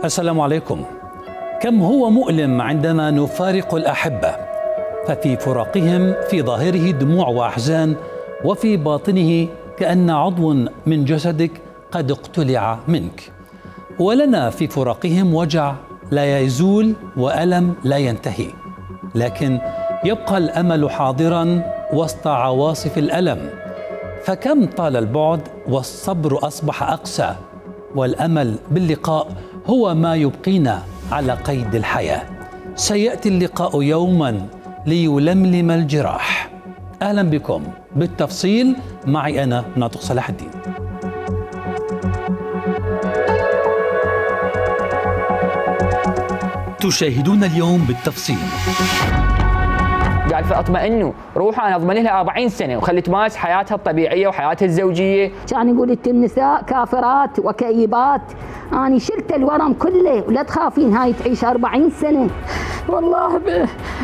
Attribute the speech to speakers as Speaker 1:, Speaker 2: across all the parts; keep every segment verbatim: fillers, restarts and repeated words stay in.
Speaker 1: السلام عليكم. كم هو مؤلم عندما نفارق الأحبة، ففي فراقهم في ظاهره دموع وأحزان، وفي باطنه كأن عضو من جسدك قد اقتلع منك. ولنا في فراقهم وجع لا يزول وألم لا ينتهي، لكن يبقى الأمل حاضرا وسط عواصف الألم. فكم طال البعد والصبر أصبح أقسى، والأمل باللقاء هو ما يبقينا على قيد الحياة. سيأتي اللقاء يوما ليلملم الجراح. أهلا بكم بالتفصيل، معي أنا ناطق صلاح الدين. تشاهدون اليوم بالتفصيل.
Speaker 2: قال فاطمئنوا روحوا انا اضمن لها أربعين سنه وخلي تمارس حياتها الطبيعيه وحياتها الزوجيه.
Speaker 3: كان يقول انت النساء كافرات وكئيبات، اني شلت الورم كله ولا تخافين هاي تعيش أربعين سنه. والله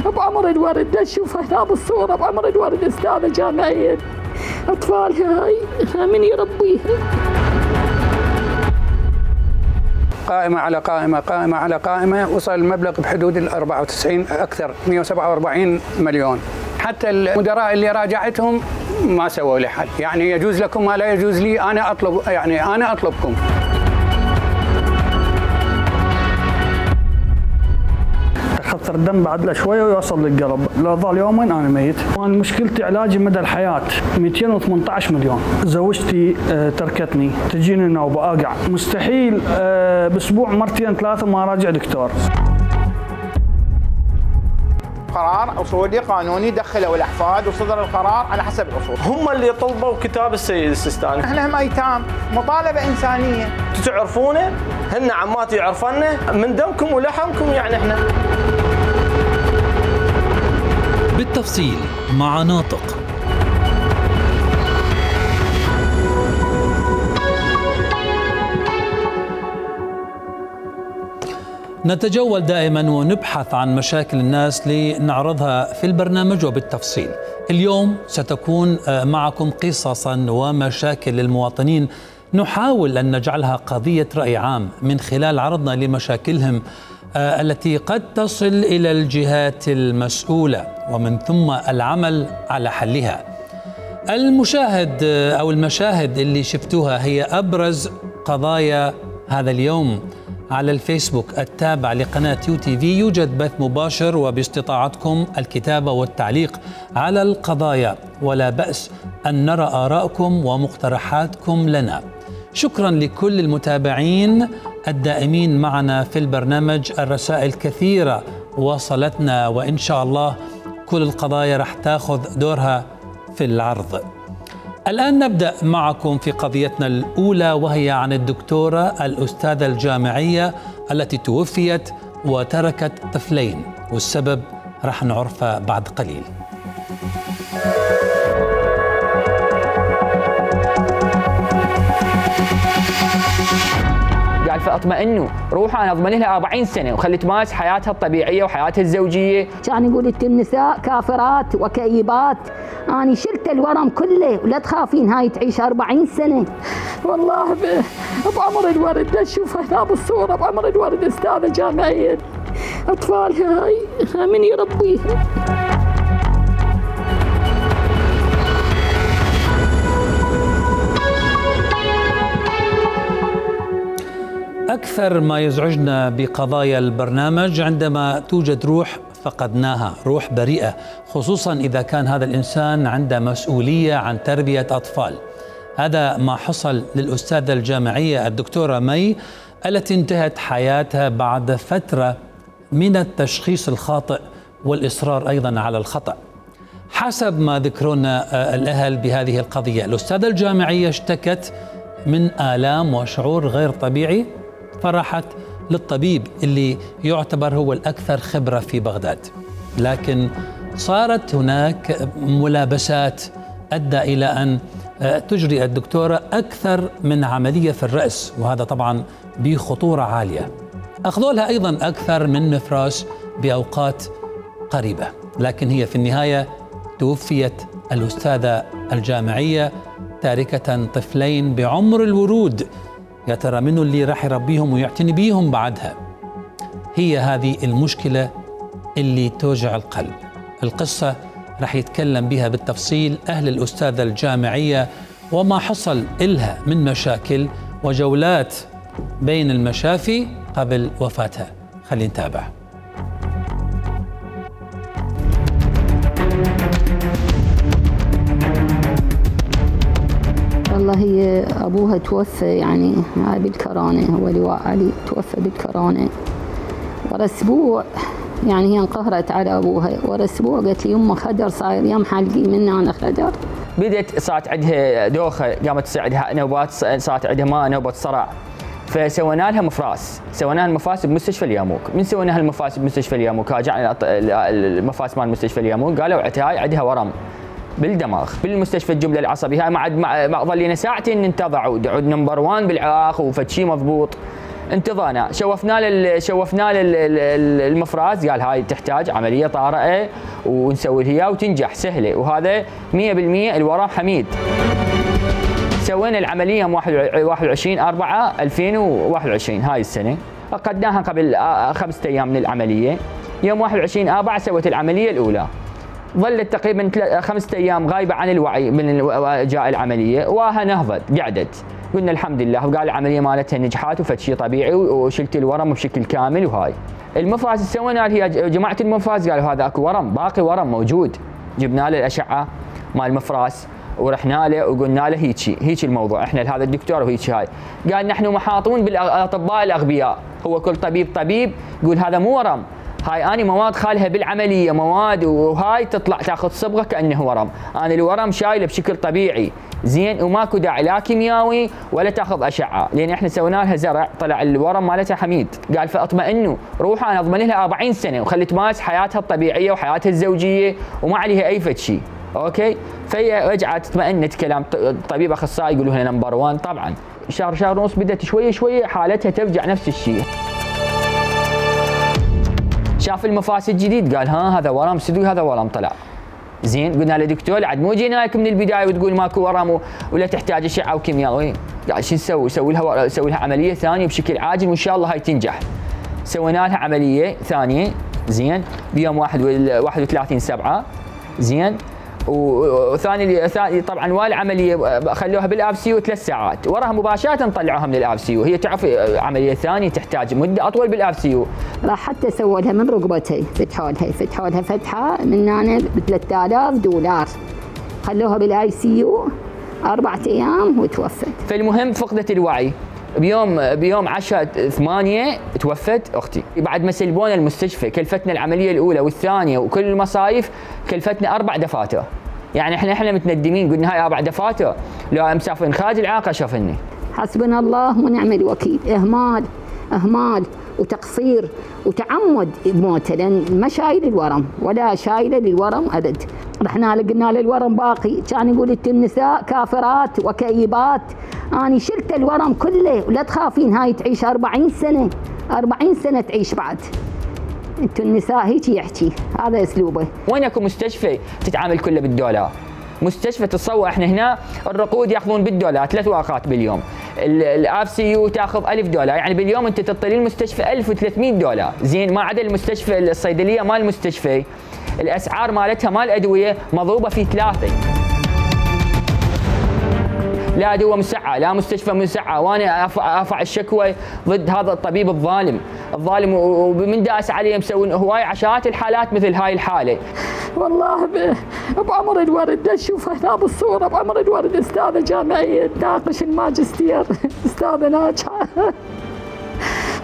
Speaker 3: بعمر الورد اشوف هنا بالصوره، بعمر الورد استاذه جامعيه، اطفالها هاي من يربيها؟
Speaker 4: قائمة على قائمة قائمة على قائمة، وصل المبلغ بحدود ال أربعة وتسعين أكثر مئة وسبعة وأربعين مليون. حتى المدراء اللي راجعتهم ما سووا لي حل، يعني يجوز لكم ما لا يجوز لي، أنا أطلب يعني أنا أطلبكم.
Speaker 5: خطر الدم بعد له شويه ويوصل للقلب، لو ظل يومين انا ميت. وانا مشكلتي علاجي مدى الحياه مئتين وثمانية عشر مليون. زوجتي تركتني، تجيني نوبه اقع، مستحيل باسبوع مرتين ثلاثه ما راجع دكتور.
Speaker 6: قرار اصولي قانوني دخلوا الاحفاد وصدر القرار على حسب الاصول.
Speaker 7: هم اللي طلبوا كتاب السيد السيستاني.
Speaker 6: احنا هم ايتام، مطالبه انسانيه.
Speaker 7: تعرفونه؟ هن عمات يعرفنا من دمكم ولحمكم، يعني احنا.
Speaker 1: بالتفصيل مع ناطق. نتجول دائما ونبحث عن مشاكل الناس لنعرضها في البرنامج وبالتفصيل. اليوم ستكون معكم قصصا ومشاكل للمواطنين نحاول أن نجعلها قضية رأي عام من خلال عرضنا لمشاكلهم التي قد تصل إلى الجهات المسؤولة، ومن ثم العمل على حلها. المشاهد أو المشاهد اللي شفتوها هي أبرز قضايا هذا اليوم على الفيسبوك التابع لقناة يو تي في. يوجد بث مباشر وباستطاعتكم الكتابة والتعليق على القضايا، ولا بأس أن نرى آراءكم ومقترحاتكم لنا. شكرا لكل المتابعين الدائمين معنا في البرنامج. الرسائل كثيرة وصلتنا، وإن شاء الله كل القضايا رح تاخذ دورها في العرض. الآن نبدأ معكم في قضيتنا الأولى، وهي عن الدكتورة الأستاذة الجامعية التي توفيت وتركت طفلين، والسبب رح نعرفه بعد قليل.
Speaker 2: قال فاطمئنوا روحوا انا اضمن لها أربعين سنه وخلي تمارس حياتها الطبيعيه وحياتها الزوجيه.
Speaker 3: كان يقول انت النساء كافرات وكئيبات، اني شلت الورم كله ولا تخافين هاي تعيش أربعين سنه. والله بعمر الورد اشوف هنا بالصوره، بعمر الورد استاذه جامعيه، اطفالها هاي من يربيها؟
Speaker 1: أكثر ما يزعجنا بقضايا البرنامج عندما توجد روح فقدناها، روح بريئة، خصوصا إذا كان هذا الإنسان عنده مسؤولية عن تربية أطفال. هذا ما حصل للأستاذة الجامعية الدكتورة مي التي انتهت حياتها بعد فترة من التشخيص الخاطئ والإصرار أيضا على الخطأ. حسب ما ذكرونا الأهل بهذه القضية، الأستاذة الجامعية اشتكت من آلام وشعور غير طبيعي، فراحت للطبيب اللي يعتبر هو الأكثر خبرة في بغداد. لكن صارت هناك ملابسات أدى إلى أن تجري الدكتورة أكثر من عملية في الرأس، وهذا طبعا بخطورة عالية. أخذوا لها أيضا أكثر من مفراش بأوقات قريبة، لكن هي في النهاية توفيت الأستاذة الجامعية تاركة طفلين بعمر الورود. يا ترى منو اللي راح يربيهم ويعتني بيهم بعدها؟ هي هذه المشكلة اللي توجع القلب. القصة راح يتكلم بها بالتفصيل أهل الأستاذة الجامعية وما حصل إلها من مشاكل وجولات بين المشافي قبل وفاتها. خلينا نتابع.
Speaker 3: والله هي أبوها توفى يعني هاي بالكورونا، هو لواء علي توفى بالكورونا. ورا أسبوع يعني هي انقهرت على أبوها، ورا أسبوع قالت لي يمه خدر صاير يم حلقي مني أنا خدر.
Speaker 2: بدت صارت عندها دوخة، قامت تصير عندها نوبات، صارت عندها ما نوبة صرع، فسوينا لها مفراس، سوينا لها المفاس بمستشفى الياموك. من سوينا لها المفاس بمستشفى الياموك راجعنا المفاس مال مستشفى الياموك قالوا هاي عندها ورم بالدماغ بالمستشفى الجمله العصبي. هاي ما ما ظلينا ساعتين ننتظر ودعود نمبر واحد بالعراق وفد شيء مضبوط. انتظرنا، شوفنا له شوفنا له المفراس قال هاي تحتاج عمليه طارئه ونسوي لها اياها وتنجح سهله، وهذا مئة بالمئة الورم حميد. سوينا العمليه يوم واحد وعشرين أربعة ألفين وواحد وعشرين هاي السنه، عقدناها قبل خمسة ايام من العمليه. يوم واحد وعشرين أربعة سويت العمليه الاولى، ظلت تقريبا خمسة ايام غايبه عن الوعي من جاء العمليه، واها نهضت قعدت، قلنا الحمد لله، وقال العمليه مالتها نجحت وفد شيء طبيعي وشلت الورم بشكل كامل. وهاي المفاس سوينا هي جماعه المفاس قالوا هذا اكو ورم، باقي ورم موجود. جبنا له الاشعه مال المفراس ورحنا له وقلنا له هيك هيك الموضوع، احنا لهذا الدكتور وهيك هاي. قال نحن محاطون بالاطباء الاغبياء، هو كل طبيب طبيب يقول هذا مو ورم، هاي اني مواد خالها بالعمليه مواد وهاي تطلع تاخذ صبغه كانه ورم، انا الورم شايله بشكل طبيعي زين وماكو داعي لا كيميائي ولا تاخذ اشعه، لان احنا سوينا لها زرع طلع الورم مالتها حميد. قال فاطمئنوا روحوا انا اضمن لها أربعين سنه وخلي تمارس حياتها الطبيعيه وحياتها الزوجيه وما عليها اي فد شيء، اوكي؟ فهي رجعت اطمئنت كلام طبيب اخصائي يقولوا لها نمبر واحد. طبعا شهر شهر ونص بدات شويه شويه حالتها ترجع نفس الشيء. شاف المفاس الجديد قال ها هذا ورم صدق، هذا ورم طلع زين. قلنا له دكتور عاد مو جينا لك من البدايه وتقول ماكو ورم ولا تحتاج اشعه وكيمياء. قال شو نسوي؟ سوي لها سوي لها عمليه ثانيه بشكل عاجل وان شاء الله هاي تنجح. سوينا لها عمليه ثانيه زين بيوم واحد وثلاثين سبعة زين، وثاني ثاني طبعا والعمليه خلوها بالاب سي يو ثلاث ساعات، وراها مباشره طلعوها من الاب سي يو. هي تعرف عمليه ثانيه تحتاج مده اطول بالاب سي يو.
Speaker 3: راح حتى سووا لها من ركبتها فتحوا لها فتحوا لها فتحه من هنا ب ثلاثة آلاف دولار، خلوها بالاي سي يو اربع ايام وتوفت.
Speaker 2: فالمهم فقدت الوعي. بيوم بيوم عشرة ثمانية توفت اختي. بعد ما سلبونا المستشفى كلفتنا العمليه الاولى والثانيه وكل المصايف كلفتنا اربع دفاتر. يعني احنا احنا متندمين قلنا هاي اربع دفاتر لو مسافرين خارج العراق اشرفني.
Speaker 3: حسبنا الله ونعم الوكيل. اهمال اهمال وتقصير وتعمد بموته، لان ما شايل الورم ولا شايله للورم ابد. رحنا له قلنا له الورم باقي، كان يقول انت النساء كافرات وكئيبات. اني شلت الورم كله ولا تخافين هاي تعيش أربعين سنه، أربعين سنه تعيش بعد. انتو النساء هيك يحكي، هذا اسلوبه.
Speaker 2: وين اكو مستشفى تتعامل كله بالدولار؟ مستشفى تتصور احنا هنا الرقود ياخذون بالدولار ثلاث ورقات باليوم، الاب سي يو تاخذ ألف دولار، يعني باليوم انت تطلين المستشفى ألف وثلاثمئة دولار زين، ما عدا المستشفى الصيدليه مال المستشفى الاسعار مالتها مال ادويه مضروبه في ثلاثه. لا دواء مسعة، لا مستشفى مسعة، وانا ارفع الشكوى ضد هذا الطبيب الظالم، الظالم ومن داس عليه مسوي هواي عشرات الحالات مثل هاي الحالة.
Speaker 3: والله بعمر الورد اشوف هنا بالصورة، بعمر الورد استاذة جامعية تناقش الماجستير، استاذة ناجحة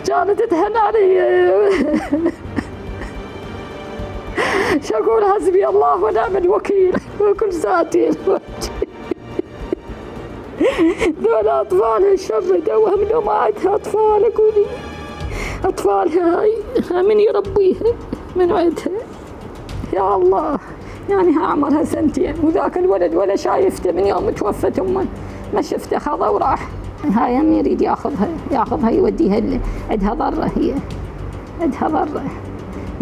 Speaker 3: كانت تهن علي. شو اقول؟ حسبي الله ونعم الوكيل وكل ساعتين. ذولا اطفال الشر دوهم لو ما عندها اطفال قولي أطفالها هاي من يربيها من عندها يا الله. يعني ها عمرها سنتين وذاك الولد ولا شايفته من يوم توفت أمه ما شفته، خذها وراح. هاي هم يريد ياخذها ياخذها يوديها عندها ضرة، هي عندها ضرة.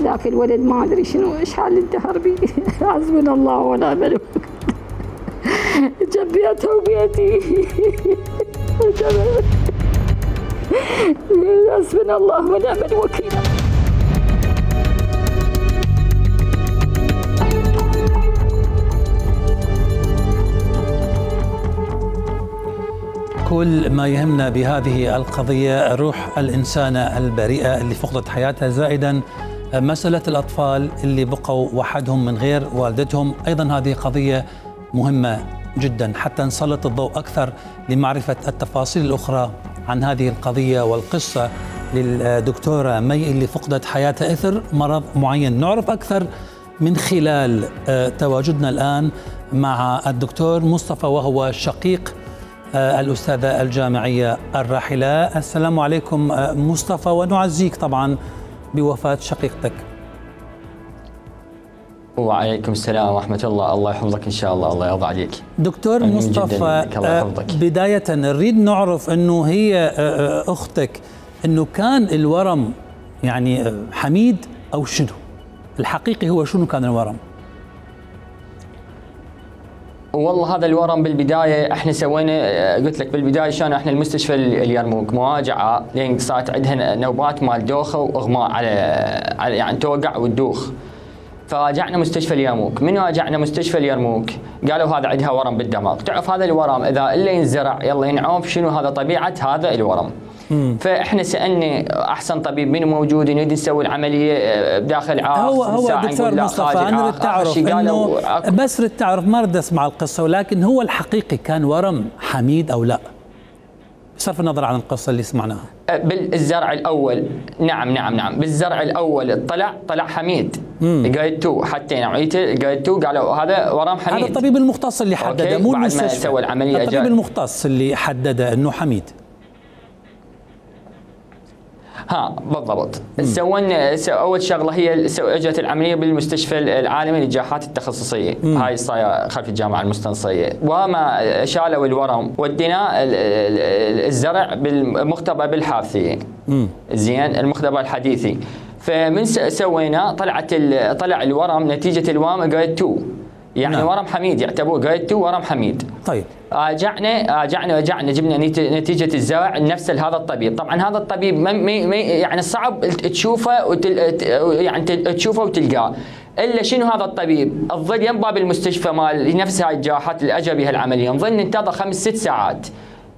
Speaker 3: ذاك الولد ما أدري شنو إيش حال الدهر بي. حسبنا الله ونعم الوكيل. جنبيتها وبيتي. حسبنا الله ونعم الوكيل.
Speaker 1: كل ما يهمنا بهذه القضية روح الإنسانة البريئة اللي فقدت حياتها، زائدا مسألة الأطفال اللي بقوا وحدهم من غير والدتهم. أيضا هذه قضية مهمة جدا حتى نسلط الضوء أكثر لمعرفة التفاصيل الأخرى عن هذه القضية والقصة للدكتورة مي اللي فقدت حياتها إثر مرض معين. نعرف أكثر من خلال تواجدنا الآن مع الدكتور مصطفى وهو شقيق الأستاذة الجامعية الراحلة. السلام عليكم مصطفى، ونعزيك طبعا بوفاة شقيقتك.
Speaker 2: وعليكم السلام ورحمة الله. الله يحفظك إن شاء الله، الله يرضى عليك
Speaker 1: دكتور مصطفى. بداية نريد نعرف أنه هي أختك أنه كان الورم يعني حميد أو شنو الحقيقي؟ هو شنو كان الورم؟
Speaker 2: والله هذا الورم بالبدايه احنا سوينا، قلت لك بالبدايه شلون احنا المستشفى اليرموك مواجعه لين صارت عندها نوبات مال دوخه واغماء على على يعني توقع وتدوخ. فراجعنا مستشفى اليرموك، من راجعنا مستشفى اليرموك قالوا هذا عندها ورم بالدماغ. تعرف هذا الورم اذا الا ينزرع يلا ينعوف شنو هذا طبيعه هذا الورم. مم. فاحنا سالنا احسن طبيب منو موجود نريد نسوي العمليه بداخل عاق.
Speaker 1: هو هو دكتور مصطفى انا اريد تعرف انه بس اريد تعرف ما اريد اسمع القصه، ولكن هو الحقيقي كان ورم حميد او لا؟ بصرف النظر عن القصه اللي سمعناها.
Speaker 2: بالزرع الاول نعم نعم نعم بالزرع الاول طلع طلع حميد جريد اثنين، حتى نوعيته جريد اثنين قالوا هذا ورم حميد.
Speaker 1: هذا الطبيب المختص اللي حدده مو المستشفى.
Speaker 2: بعد ما سوى العمليه
Speaker 1: الطبيب المختص اللي حدده انه حميد.
Speaker 2: ها بالضبط. سوينا اول شغله هي اجت العمليه بالمستشفى العالمي للجراحات التخصصيه، مم. هاي صايره خلف الجامعه المستنصريه. وما شالوا الورم ودينا الزرع بالمختبر بالحافظيه. زين المختبر الحديثي. فمن سوينا طلعت طلع الورم نتيجه الورم جريد اثنين، يعني نعم. ورم حميد يعتبر جريد اثنين ورم حميد.
Speaker 1: طيب
Speaker 2: راجعنا راجعنا رجعنا جبنا نتيجه الزرع نفس هذا الطبيب. طبعا هذا الطبيب مي مي يعني صعب تشوفه وتل يعني تشوفه وتلقاه، الا شنو هذا الطبيب الظل يم باب المستشفى مال نفس هاي الجراحات اللي اجى بها العمليه، نظل ننتظر خمس ست ساعات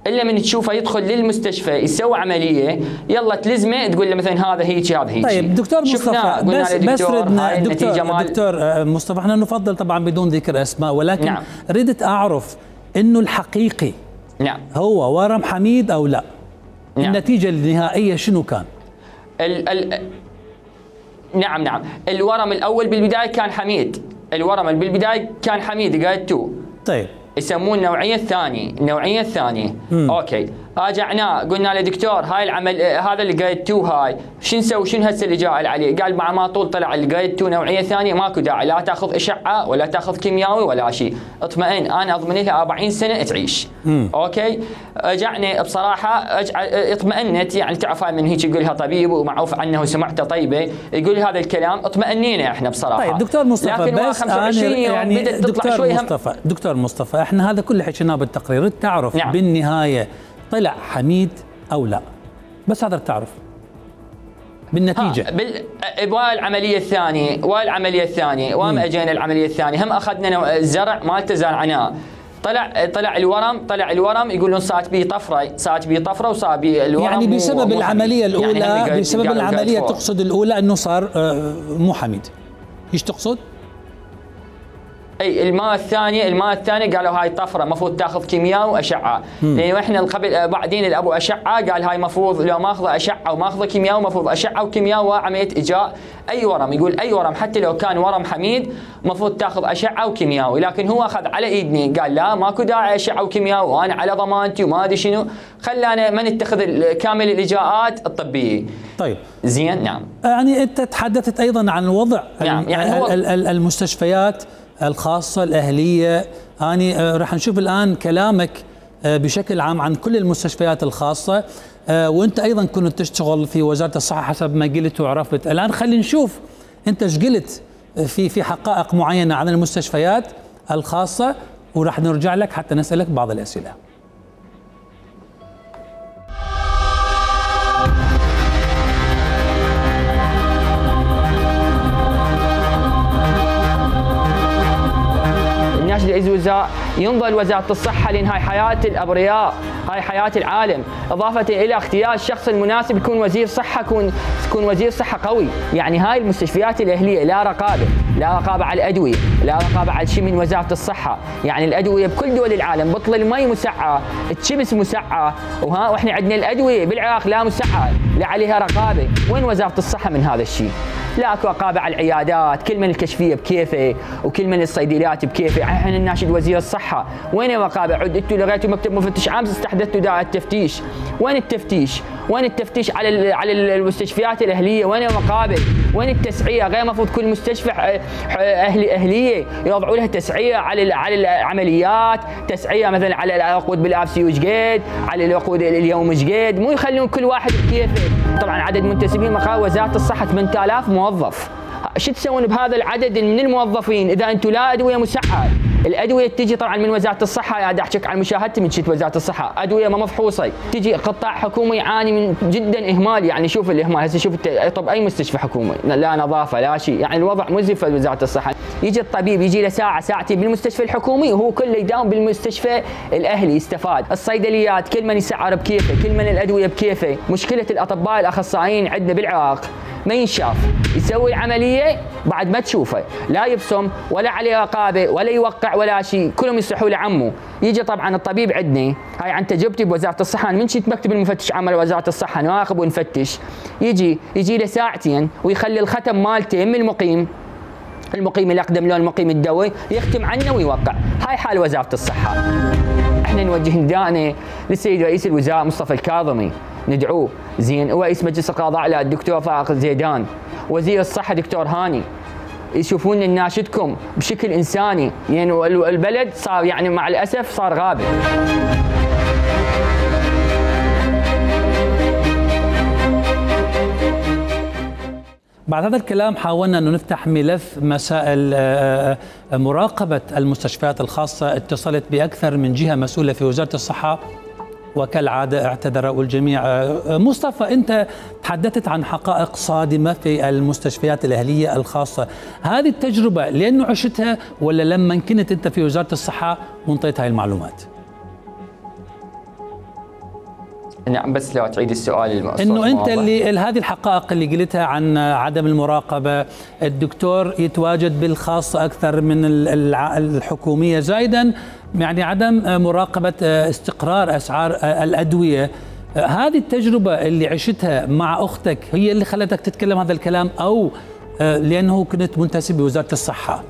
Speaker 2: الا من تشوفه يدخل للمستشفى يسوي عمليه يلا تلزمه تقول له مثلا هذا هيك هذا هيك.
Speaker 1: طيب دكتور مصطفى بس بس ردنا دكتور, دكتور مصطفى احنا نفضل طبعا بدون ذكر اسماء، ولكن نعم. ردت اعرف انه الحقيقي
Speaker 2: نعم
Speaker 1: هو ورم حميد او لا؟ نعم. النتيجه النهائيه شنو كان؟
Speaker 2: ال ال نعم نعم الورم الاول بالبدايه كان حميد، الورم اللي بالبدايه كان حميد جريد اثنين.
Speaker 1: طيب
Speaker 2: يسمون النوعيه الثانيه، النوعيه الثانيه. مم. اوكي راجعناه قلنا له دكتور هاي العمل هذا اللي جريد اثنين هاي شو نسوي شنو هسه اللي جاء عليه؟ قال مع ما طول طلع الجريد اثنين نوعيه ثانيه ماكو داعي لا تاخذ اشعه ولا تاخذ كيميائي ولا شيء، اطمئن انا اضمن لها أربعين سنه تعيش. مم. اوكي رجعنا بصراحه اطمئنت، يعني تعرف من هيك يقول لها طبيب ومعروف عنه وسمعته طيبه يقول هذا الكلام اطمئنينا احنا بصراحه.
Speaker 1: طيب دكتور مصطفى بس يعني دكتور مصطفى دكتور مصطفى احنا هذا كله حكيناه بالتقرير، تعرف نعم. بالنهايه طلع حميد او لا؟ بس هذا تعرف بالنتيجه.
Speaker 2: بال والعمليه الثانيه والعمليه الثانيه وما اجينا العمليه الثانيه هم اخذنا الزرع مالته زرعناه طلع طلع الورم طلع الورم يقولون صارت به طفره صارت به طفره وصار به الورم
Speaker 1: يعني بسبب العمليه الاولى يعني بسبب العمليه تقصد الاولى انه صار مو حميد، ايش تقصد؟
Speaker 2: اي الماء الثاني الماء الثاني قالوا هاي طفره المفروض تاخذ كيمياء واشعه، لانه احنا قبل بعدين الابو اشعه قال هاي المفروض لو ماخذه اشعه وماخذه كيمياء المفروض اشعه وكيمياء وعمليه اجاء اي ورم، يقول اي ورم حتى لو كان ورم حميد المفروض تاخذ اشعه وكيمياء، لكن هو اخذ على ايدني قال لا ماكو داعي اشعه وكيمياء وانا على ضمانتي وما ادري شنو، خلانا ما نتخذ كامل الاجراءات الطبيه.
Speaker 1: طيب
Speaker 2: زين نعم.
Speaker 1: يعني انت تحدثت ايضا عن وضع
Speaker 2: نعم. يعني هو
Speaker 1: المستشفيات الخاصة الأهلية، أنا راح نشوف الآن كلامك بشكل عام عن كل المستشفيات الخاصة، وأنت أيضا كنت تشتغل في وزارة الصحة حسب ما قلت وعرفت. الآن خلينا نشوف أنت ايش قلت في في حقائق معينة عن المستشفيات الخاصة، وراح نرجع لك حتى نسألك بعض الأسئلة.
Speaker 2: ناشد رئيس الوزراء ينظر وزارة الصحة لأن هاي حياة الأبرياء، هاي حياة العالم، إضافة إلى اختيار الشخص المناسب يكون وزير صحة، يكون يكون وزير صحة قوي. يعني هاي المستشفيات الأهلية لا رقابة، لا رقابة على الأدوية، لا رقابة على شيء من وزارة الصحة. يعني الأدوية بكل دول العالم بطل المي مسعة، الشمس مسعة، وها واحنا عندنا الأدوية بالعراق لا مسعة، لا عليها رقابة. وين وزارة الصحة من هذا الشيء؟ لا اكو رقابه على العيادات، كل من الكشفيه بكيفه وكل من الصيدليات بكيفه، احنا نناشد وزير الصحه، وين الرقابه؟ عد انتم لغيتوا مكتب مفتش عام استحدثتوا دائره التفتيش، وين التفتيش؟ وين التفتيش على على المستشفيات الاهليه؟ وين الرقابه؟ وين التسعيره؟ غير المفروض كل مستشفى اهلي اهليه يوضعوا لها تسعيره على على العمليات، تسعيره مثلا على العقود بالابسي وش قد، على العقود اليوم وش قد، مو يخلون كل واحد بكيفه. طبعا عدد منتسبين مقر وزاره الصحه ثمانية آلاف موظف، شو تسوون بهذا العدد من الموظفين اذا انتم لا ادويه مسعره؟ الادويه تجي طبعا من وزاره الصحه، قاعد احكيك عن مشاهدتي من شت وزاره الصحه، ادويه ما مفحوصه، تجي قطاع حكومي يعاني من جدا اهمال. يعني شوف الاهمال هسه، شوف طب اي مستشفى حكومي لا نظافه لا شيء، يعني الوضع مزري في وزاره الصحه. يجي الطبيب يجي له ساعه ساعتين بالمستشفى الحكومي وهو كله يداوم بالمستشفى الاهلي يستفاد. الصيدليات كل من يسعر بكيفه، كل من الادويه بكيفه. مشكله الاطباء الاخصائيين عندنا بالعراق ما ينشاف، يسوي العمليه بعد ما تشوفه، لا يبصم ولا عليه رقابه ولا يوقع ولا شيء، كلهم يصيحوا لعمه. يجي طبعا الطبيب عندنا، هاي عن تجربتي بوزاره الصحه، من شفت مكتب المفتش عام وزاره الصحه نراقب ونفتش، يجي يجي له ساعتين ويخلي الختم مالته من المقيم، المقيم الاقدم له المقيم الدوري يختم عنه ويوقع. هاي حال وزاره الصحه. احنا نوجه نداءنا للسيد رئيس الوزراء مصطفى الكاظمي، ندعوه زين، ورئيس مجلس القضاء لا الدكتور فائق زيدان، وزير الصحه دكتور هاني، يشوفون نناشدكم بشكل انساني، يعني البلد صار يعني مع الاسف صار غابه.
Speaker 1: بعد هذا الكلام حاولنا أن نفتح ملف مسائل مراقبة المستشفيات الخاصة، اتصلت بأكثر من جهة مسؤولة في وزارة الصحة وكالعادة اعتذروا الجميع. مصطفى، أنت تحدثت عن حقائق صادمة في المستشفيات الأهلية الخاصة، هذه التجربة لأنه عشتها ولا لما كنت أنت في وزارة الصحة وانطيت هاي المعلومات؟
Speaker 2: نعم بس لو تعيد السؤال.
Speaker 1: انه انت اللي هذه الحقائق اللي قلتها عن عدم المراقبه، الدكتور يتواجد بالخاصه اكثر من الحكوميه، زائدا يعني عدم مراقبه استقرار اسعار الادويه، هذه التجربه اللي عشتها مع اختك هي اللي خلتك تتكلم هذا الكلام، او لانه كنت منتسب بوزاره الصحه؟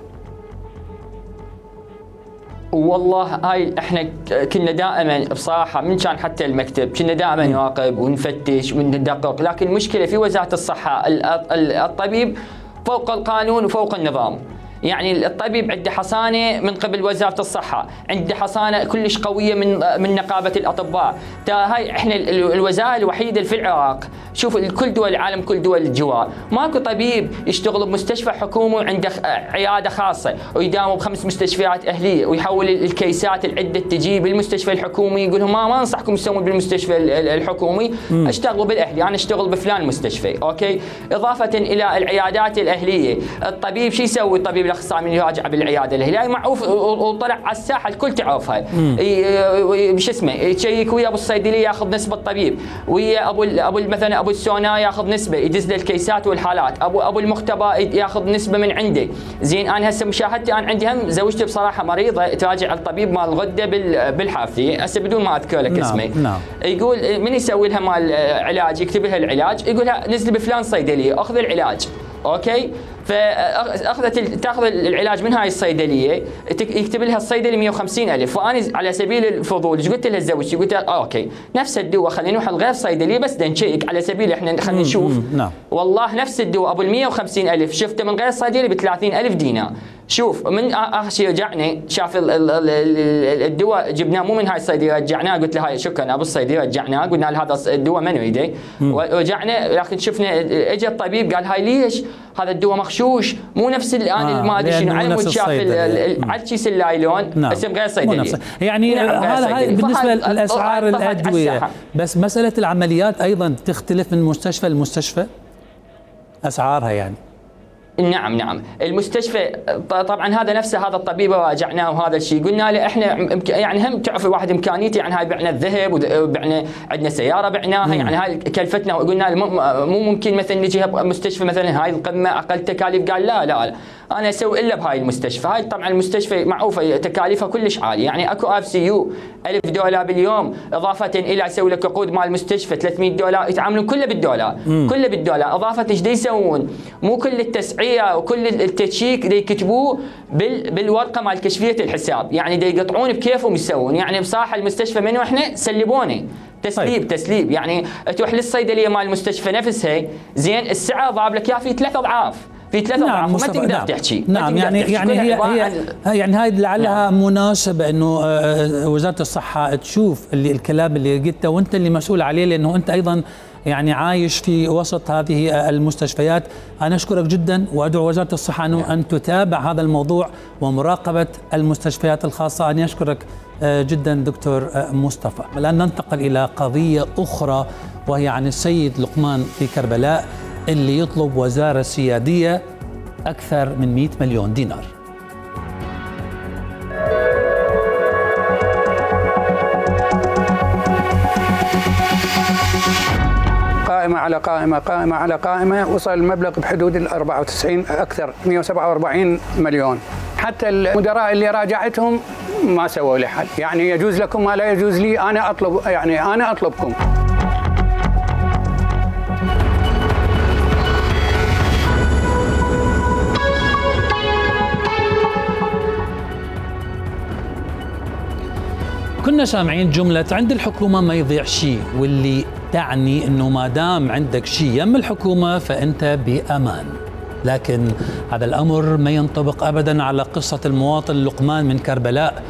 Speaker 2: والله هاي احنا كنا دائما بصراحه من كان حتى المكتب كنا دائما نراقب ونفتش وندقق، لكن المشكله في وزاره الصحه الطبيب فوق القانون وفوق النظام. يعني الطبيب عنده حصانه من قبل وزاره الصحه، عنده حصانه كلش قويه من من نقابه الاطباء. هاي احنا الوزاره الوحيده في العراق، شوف كل دول العالم كل دول الجوار ماكو طبيب يشتغل بمستشفى حكومي وعنده عياده خاصه ويداوم بخمس مستشفيات اهليه ويحول الكيسات العده تجي بالمستشفى الحكومي، يقول لهم ما ما انصحكم تسوون بالمستشفى الحكومي، اشتغلوا بالاهلي، انا اشتغل بفلان مستشفى، اوكي؟ اضافه الى العيادات الاهليه، الطبيب شو يسوي الطبيب الاخصائي من يراجع بالعياده الهلالي معروف وطلع على الساحه الكل تعرفها. شو اسمه يشيك ويا ابو الصيدليه ياخذ نسبه طبيب، ويا ابو ابو مثلا ابو السونا ياخذ نسبه يدز له الكيسات والحالات، ابو ابو المختبر ياخذ نسبه من عنده. زين انا هسه مشاهدتي انا عندي هم زوجتي بصراحه مريضه تراجع الطبيب مال الغده بالحافظيه هسه بدون ما اذكر لك اسمه. نعم. يقول من يسوي لها مال علاج يكتب لها العلاج يقول لها نزلي بفلان صيدليه اخذ العلاج. اوكي فاخذت تاخذ العلاج من هاي الصيدليه يكتب لها الصيدلي مئة وخمسين ألف، فانا على سبيل الفضول ايش قلت لها زوجتي قلت لها آه اوكي نفس الدواء خلينا نروح لغير صيدليه بس نشيك على سبيل احنا خلينا نشوف. نعم. والله نفس الدواء ابو ال مئة وخمسين ألف شفته من غير صيدلي ب ثلاثين ألف دينار. شوف من اخر شيء رجعنا شاف الدواء جبناه مو من هاي الصيدليه رجعناه قلت له هاي شكرا ابو الصيدليه رجعناه قلنا له هذا الدواء ما نريده ورجعنا لكن شفنا اجى الطبيب قال هاي ليش هذا الدواء مغشوش مو نفس الان آه ما ادري شنو على مود شاف على كيس اللايلون
Speaker 1: نعم.
Speaker 2: اسم غير صيدليه
Speaker 1: يعني هذا هاي بالنسبه لاسعار الادويه بس مساله العمليات ايضا تختلف من مستشفى لمستشفى اسعارها يعني.
Speaker 2: نعم نعم المستشفى طبعا هذا نفسه هذا الطبيب راجعناه وهذا الشيء قلنا له احنا يعني هم تعرف الواحد امكانيته يعني هاي بعنا الذهب وبعنا عندنا سياره بعناها يعني هاي كلفتنا وقلنا له مو ممكن مثلا نجي مستشفى مثلا هاي القمه اقل تكاليف قال لا لا لا انا اسوي الا بهاي المستشفى. هاي طبعا المستشفى معروفه تكاليفها كلش عاليه يعني اكو اف سي يو ألف دولار باليوم اضافه الى اسوي لك عقود مال المستشفى ثلاثمئة دولار يتعاملون كله بالدولار مم. كله بالدولار اضافه ايش يسوون مو كل التسعيره وكل التشيك دي يكتبوه بال بالورقه مال كشفيه الحساب يعني دي يقطعون بكيفهم يسوون يعني بصراحه المستشفى منو احنا سلبوني تسليب طيب. تسليب يعني تروح للصيدليه مال المستشفى نفسها زين السعر ضارب لك اياه في ثلاث اضعاف في ثلاث اضعاف نعم ما تقدر نعم. تحكي
Speaker 1: نعم يعني تحكي. يعني هي هي يعني هاي لعلها نعم. مناسبه انه وزاره الصحه تشوف اللي الكلام اللي قلته وانت اللي مسؤول عليه لانه انت ايضا يعني عايش في وسط هذه المستشفيات. انا اشكرك جدا وادعو وزاره الصحه انه ان تتابع هذا الموضوع ومراقبه المستشفيات الخاصه. انا اشكرك جدا دكتور مصطفى. الان ننتقل الى قضيه اخرى وهي عن السيد لقمان في كربلاء اللي يطلب وزاره سياديه اكثر من مئة مليون دينار.
Speaker 4: قائمة على قائمة قائمة على قائمة وصل المبلغ بحدود ال أربعة وتسعين أكثر مئة وسبعة وأربعين مليون. حتى المدراء اللي راجعتهم ما سووا لي حل يعني يجوز لكم ما لا يجوز لي أنا أطلب يعني أنا أطلبكم.
Speaker 1: كنا سامعين جملة عند الحكومة ما يضيع شيء واللي تعني أنه ما دام عندك شيء يم الحكومة فأنت بأمان. لكن هذا الأمر ما ينطبق أبدا على قصة المواطن لقمان من كربلاء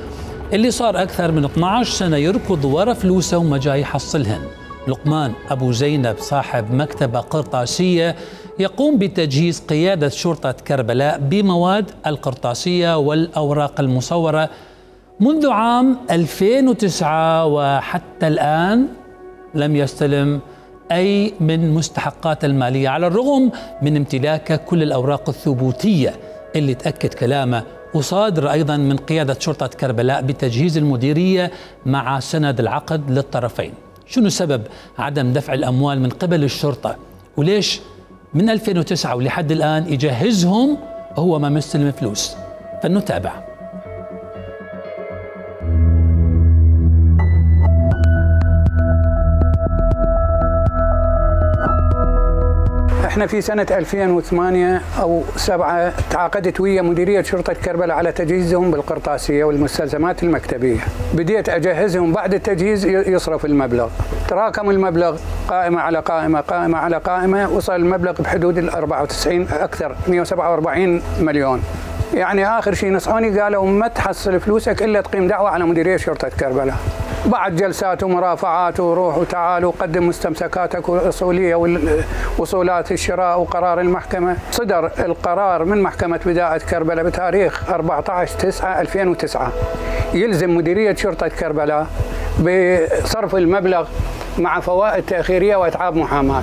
Speaker 1: اللي صار أكثر من اثنعش سنة يركض ورا فلوسه وما جاي يحصلهن. لقمان أبو زينب صاحب مكتبة قرطاسية يقوم بتجهيز قيادة شرطة كربلاء بمواد القرطاسية والأوراق المصورة منذ عام ألفين وتسعة وحتى الآن لم يستلم أي من مستحقات المالية على الرغم من امتلاكه كل الأوراق الثبوتية اللي تأكد كلامه وصادر أيضا من قيادة شرطة كربلاء بتجهيز المديرية مع سند العقد للطرفين. شنو سبب عدم دفع الأموال من قبل الشرطة وليش من ألفين وتسعة ولحد الآن يجهزهم وهو ما مستلم فلوس؟ فلنتابع.
Speaker 4: احنا في سنة ألفين وثمانية أو سبعة تعاقدت ويا مديرية شرطة كربلاء على تجهيزهم بالقرطاسية والمستلزمات المكتبية. بديت أجهزهم بعد التجهيز يصرف المبلغ. تراكم المبلغ قائمة على قائمة قائمة على قائمة وصل المبلغ بحدود ال أربعة وتسعين أكثر مئة وسبعة وأربعين مليون. يعني آخر شيء نصحوني قالوا ما تحصل فلوسك إلا تقيم دعوة على مديرية شرطة كربلاء. بعد جلسات ومرافعات وروح وتعال وقدم مستمسكاتك الأصولية ووصولات الشراء وقرار المحكمة. صدر القرار من محكمة بداية كربلاء بتاريخ أربعة عشر تسعة ألفين وتسعة يلزم مديرية شرطة كربلاء بصرف المبلغ مع فوائد تأخيرية وأتعاب محاماة.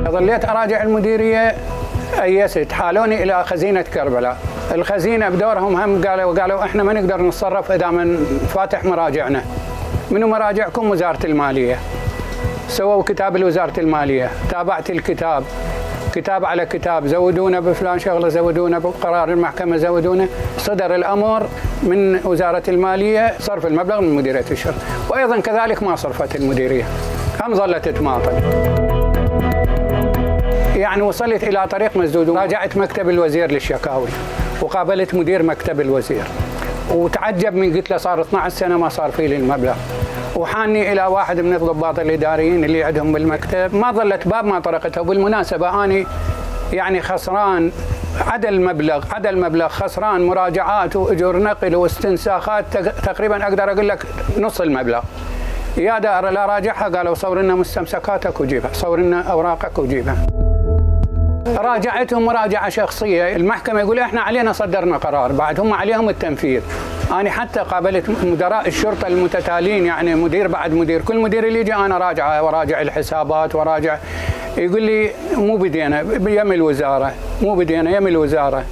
Speaker 4: ظليت أراجع المديرية أيست حالوني إلى خزينة كربلاء. الخزينة بدورهم هم قالوا قالوا إحنا ما نقدر نتصرف إذا من فاتح مراجعنا. منو مراجعكم؟ وزارة المالية. سووا كتاب لوزارة المالية، تابعت الكتاب كتاب على كتاب، زودونا بفلان شغلة، زودونا بقرار المحكمة، زودونا. صدر الأمر من وزارة المالية صرف المبلغ من مديرية الشرطة، وأيضا كذلك ما صرفت المديرية، هم ظلت تماطل. يعني وصلت إلى طريق مسدود. راجعت مكتب الوزير للشكاوي وقابلت مدير مكتب الوزير وتعجب من، قلت له صار اثنعش سنة ما صار في لي المبلغ. وحاني إلى واحد من الضباط الإداريين اللي عندهم بالمكتب، ما ظلت باب ما طرقته. وبالمناسبة أنا يعني خسران عدا المبلغ عدا المبلغ خسران مراجعات وأجور نقل واستنساخات تقريبا أقدر أقول لك نص المبلغ. يا دار لا راجعها، قالوا صور لنا مستمسكاتك وجيبها، صور لنا أوراقك وجيبها. راجعتهم مراجعة شخصية، المحكمة يقول احنا علينا صدرنا قرار، بعد هم عليهم التنفيذ. أنا حتى قابلت مدراء الشرطة المتتالين، يعني مدير بعد مدير، كل مدير اللي يجي أنا راجعه وراجع الحسابات وراجع، يقول لي مو بدينا يم الوزارة، مو بدينا يم الوزارة.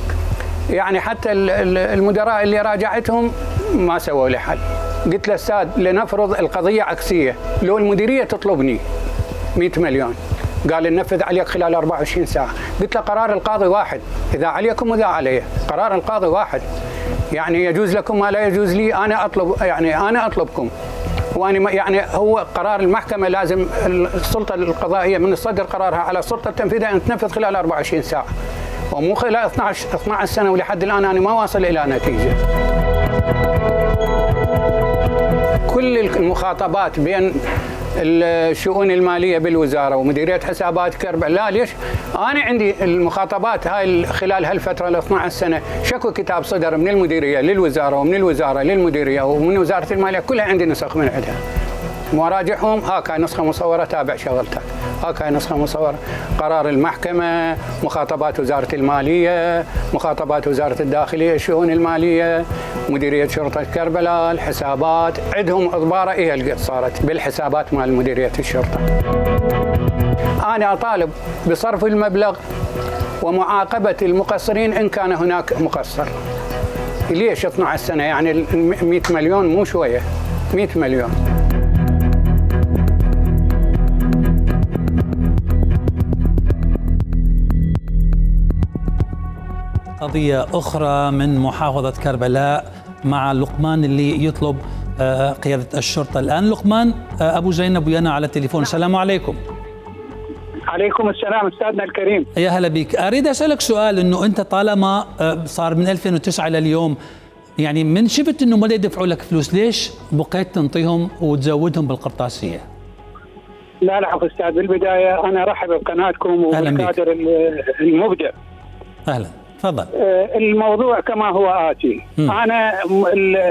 Speaker 4: يعني حتى المدراء اللي راجعتهم ما سووا لي حل. قلت له أستاذ لنفرض القضية عكسية، لو المديرية تطلبني مئة مليون، قال ننفذ عليك خلال أربعة وعشرين ساعة. قلت له قرار القاضي واحد، إذا عليكم وإذا علي، قرار القاضي واحد. يعني يجوز لكم ما لا يجوز لي، أنا أطلب، يعني أنا أطلبكم. وأنا يعني هو قرار المحكمة لازم السلطة القضائية من تصدر قرارها على السلطة التنفيذية أن تنفذ خلال أربعة وعشرين ساعة، ومو خلال اثنعش سنة. ولحد الآن أنا ما واصل إلى نتيجة. كل المخاطبات بين الشؤون المالية بالوزارة ومديرية حسابات كربلاء، لا ليش؟ أنا عندي المخاطبات هاي خلال هالفترة ال اثنعش سنة، شكو كتاب صدر من المديرية للوزارة ومن الوزارة للمديرية ومن وزارة المالية، كلها عندي نسخ من عندها. مراجعهم هاكا نسخة مصورة، تابع شغلتك، هاكا نسخة مصورة. قرار المحكمة، مخاطبات وزارة المالية، مخاطبات وزارة الداخلية، الشؤون المالية، مديرية شرطة كربلاء، الحسابات، عندهم إضبارة إيه اللي صارت بالحسابات مال مديرية الشرطة. أنا أطالب بصرف المبلغ ومعاقبة المقصرين إن كان هناك مقصر. ليش اثنعش سنة؟ يعني مئة مليون مو شوية، مئة مليون.
Speaker 1: قضية أخرى من محافظة كربلاء مع لقمان اللي يطلب قيادة الشرطة الآن. لقمان أبو زينب ويانا على التليفون. السلام عليكم.
Speaker 8: عليكم السلام أستاذنا الكريم.
Speaker 1: يا هلا بك. أريد أسألك سؤال، أنه أنت طالما صار من ألفين وتسعة إلى اليوم، يعني من شفت أنه ما يدفعوا لك فلوس، ليش بقيت تنطيهم وتزودهم بالقرطاسية؟
Speaker 8: لا لا أستاذ، بالبداية أنا أرحب بقناتكم وبالكادر المبدع.
Speaker 1: أهلا، تفضل.
Speaker 8: الموضوع كما هو آتي. م. أنا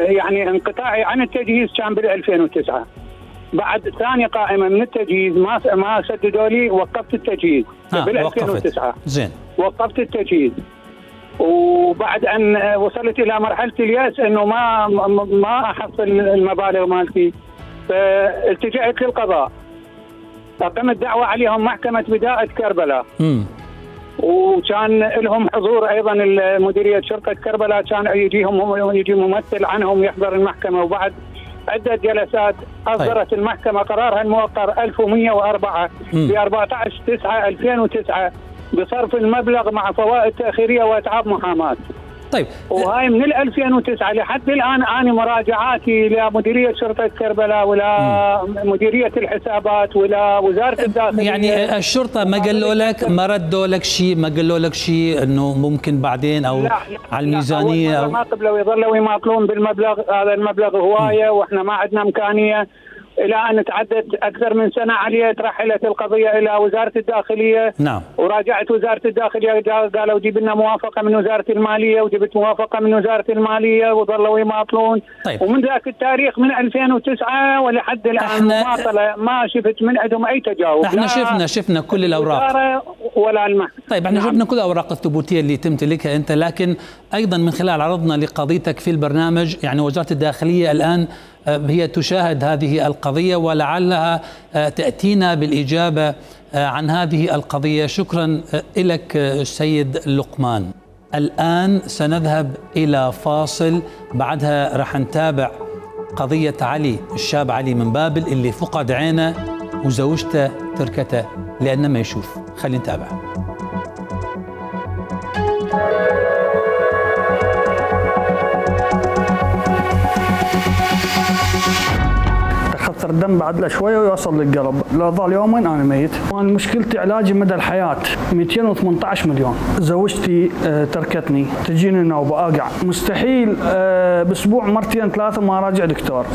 Speaker 8: يعني انقطاعي عن التجهيز كان بال ألفين وتسعة، بعد ثاني قائمة من التجهيز ما ما سددوا لي، وقفت التجهيز بال ألفين وتسعة.
Speaker 1: زين.
Speaker 8: وقفت التجهيز، وبعد أن وصلت إلى مرحلة اليأس إنه ما ما أحصل المبالغ مالتي، فالتجأت للقضاء، أقمت دعوة عليهم محكمة بداءة كربلاء. م. وكان لهم حضور ايضا مديريه شرطه كربلاء، كان يجيهم يجي ممثل عنهم يحضر المحكمه. وبعد عده جلسات اصدرت طيب. المحكمه قرارها الموقر ألف ومئة وأربعة ب أربعة عشر تسعة ألفين وتسعة بصرف المبلغ مع فوائد تاخيريه واتعاب محاماه.
Speaker 1: طيب،
Speaker 8: وهاي من ألفين وتسعة لحد الان انا مراجعاتي لمديريه شرطه كربلاء ولا م. مديريه الحسابات ولا وزاره الداخليه،
Speaker 1: يعني الشرطه ما قالوا لك، ما ردوا لك شيء، ما قالوا لك شيء انه ممكن بعدين او
Speaker 8: لا لا
Speaker 1: على الميزانيه؟
Speaker 8: لا، أو ما قبلوا يظلوا يماطلون بالمبلغ، هذا المبلغ هوايه واحنا ما عندنا امكانيه، الى ان تعدت اكثر من سنه عليه. ترحلت القضيه الى وزاره الداخليه.
Speaker 1: نعم.
Speaker 8: وراجعت وزاره الداخليه، قالوا جيب لنا موافقه من وزاره الماليه، وجبت موافقه من وزاره الماليه، وظلوا يماطلون.
Speaker 1: طيب.
Speaker 8: ومن ذاك التاريخ من ألفين وتسعة ولحد الان مماطله، ما شفت من عندهم اي تجاوب.
Speaker 1: احنا شفنا شفنا كل الاوراق
Speaker 8: ولا المحكمه.
Speaker 1: طيب، احنا
Speaker 8: نعم.
Speaker 1: شفنا كل الاوراق الثبوتيه اللي تمتلكها انت، لكن ايضا من خلال عرضنا لقضيتك في البرنامج، يعني وزاره الداخليه الان هي تشاهد هذه القضية، ولعلها تأتينا بالإجابة عن هذه القضية. شكرا لك السيد لقمان. الآن سنذهب إلى فاصل، بعدها راح نتابع قضية علي الشاب علي من بابل اللي فقد عينه وزوجته تركته لأنه ما يشوف. خلينا نتابع.
Speaker 5: خطر الدم بعد له شويه ويوصل للقلب، لو ظل يومين انا ميت. انا مشكلتي علاجي مدى الحياه مئتين وثمانية عشر مليون. زوجتي آه تركتني، تجيني نوبه اقع، مستحيل آه باسبوع مرتين ثلاثه ما راجع دكتور.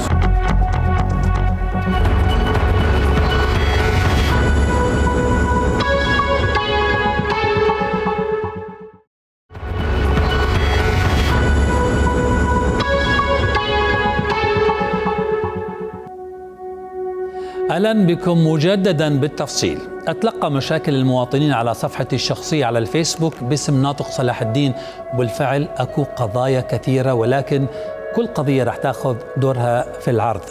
Speaker 1: أهلا بكم مجددا بالتفصيل. أتلقى مشاكل المواطنين على صفحتي الشخصية على الفيسبوك باسم ناطق صلاح الدين، وبالفعل أكو قضايا كثيرة، ولكن كل قضية رح تأخذ دورها في العرض.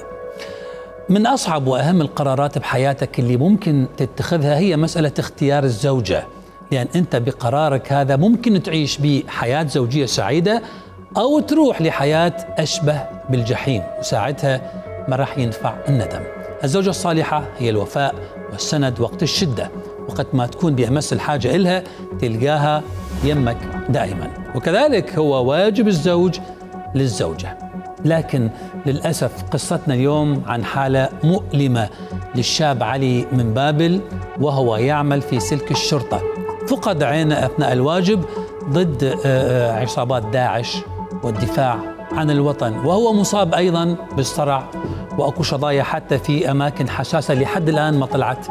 Speaker 1: من أصعب وأهم القرارات بحياتك اللي ممكن تتخذها هي مسألة اختيار الزوجة، لأن أنت بقرارك هذا ممكن تعيش بحياة زوجية سعيدة أو تروح لحياة أشبه بالجحيم، وساعتها ما راح ينفع الندم. الزوجة الصالحة هي الوفاء والسند وقت الشدة، وقت ما تكون بأمس الحاجة إلها تلقاها يمك دائما، وكذلك هو واجب الزوج للزوجة. لكن للأسف قصتنا اليوم عن حالة مؤلمة للشاب علي من بابل وهو يعمل في سلك الشرطة. فقد عينه أثناء الواجب ضد عصابات داعش والدفاع عن الوطن، وهو مصاب أيضا بالصرع، وأكو شظايا حتى في أماكن حساسة لحد الآن ما طلعت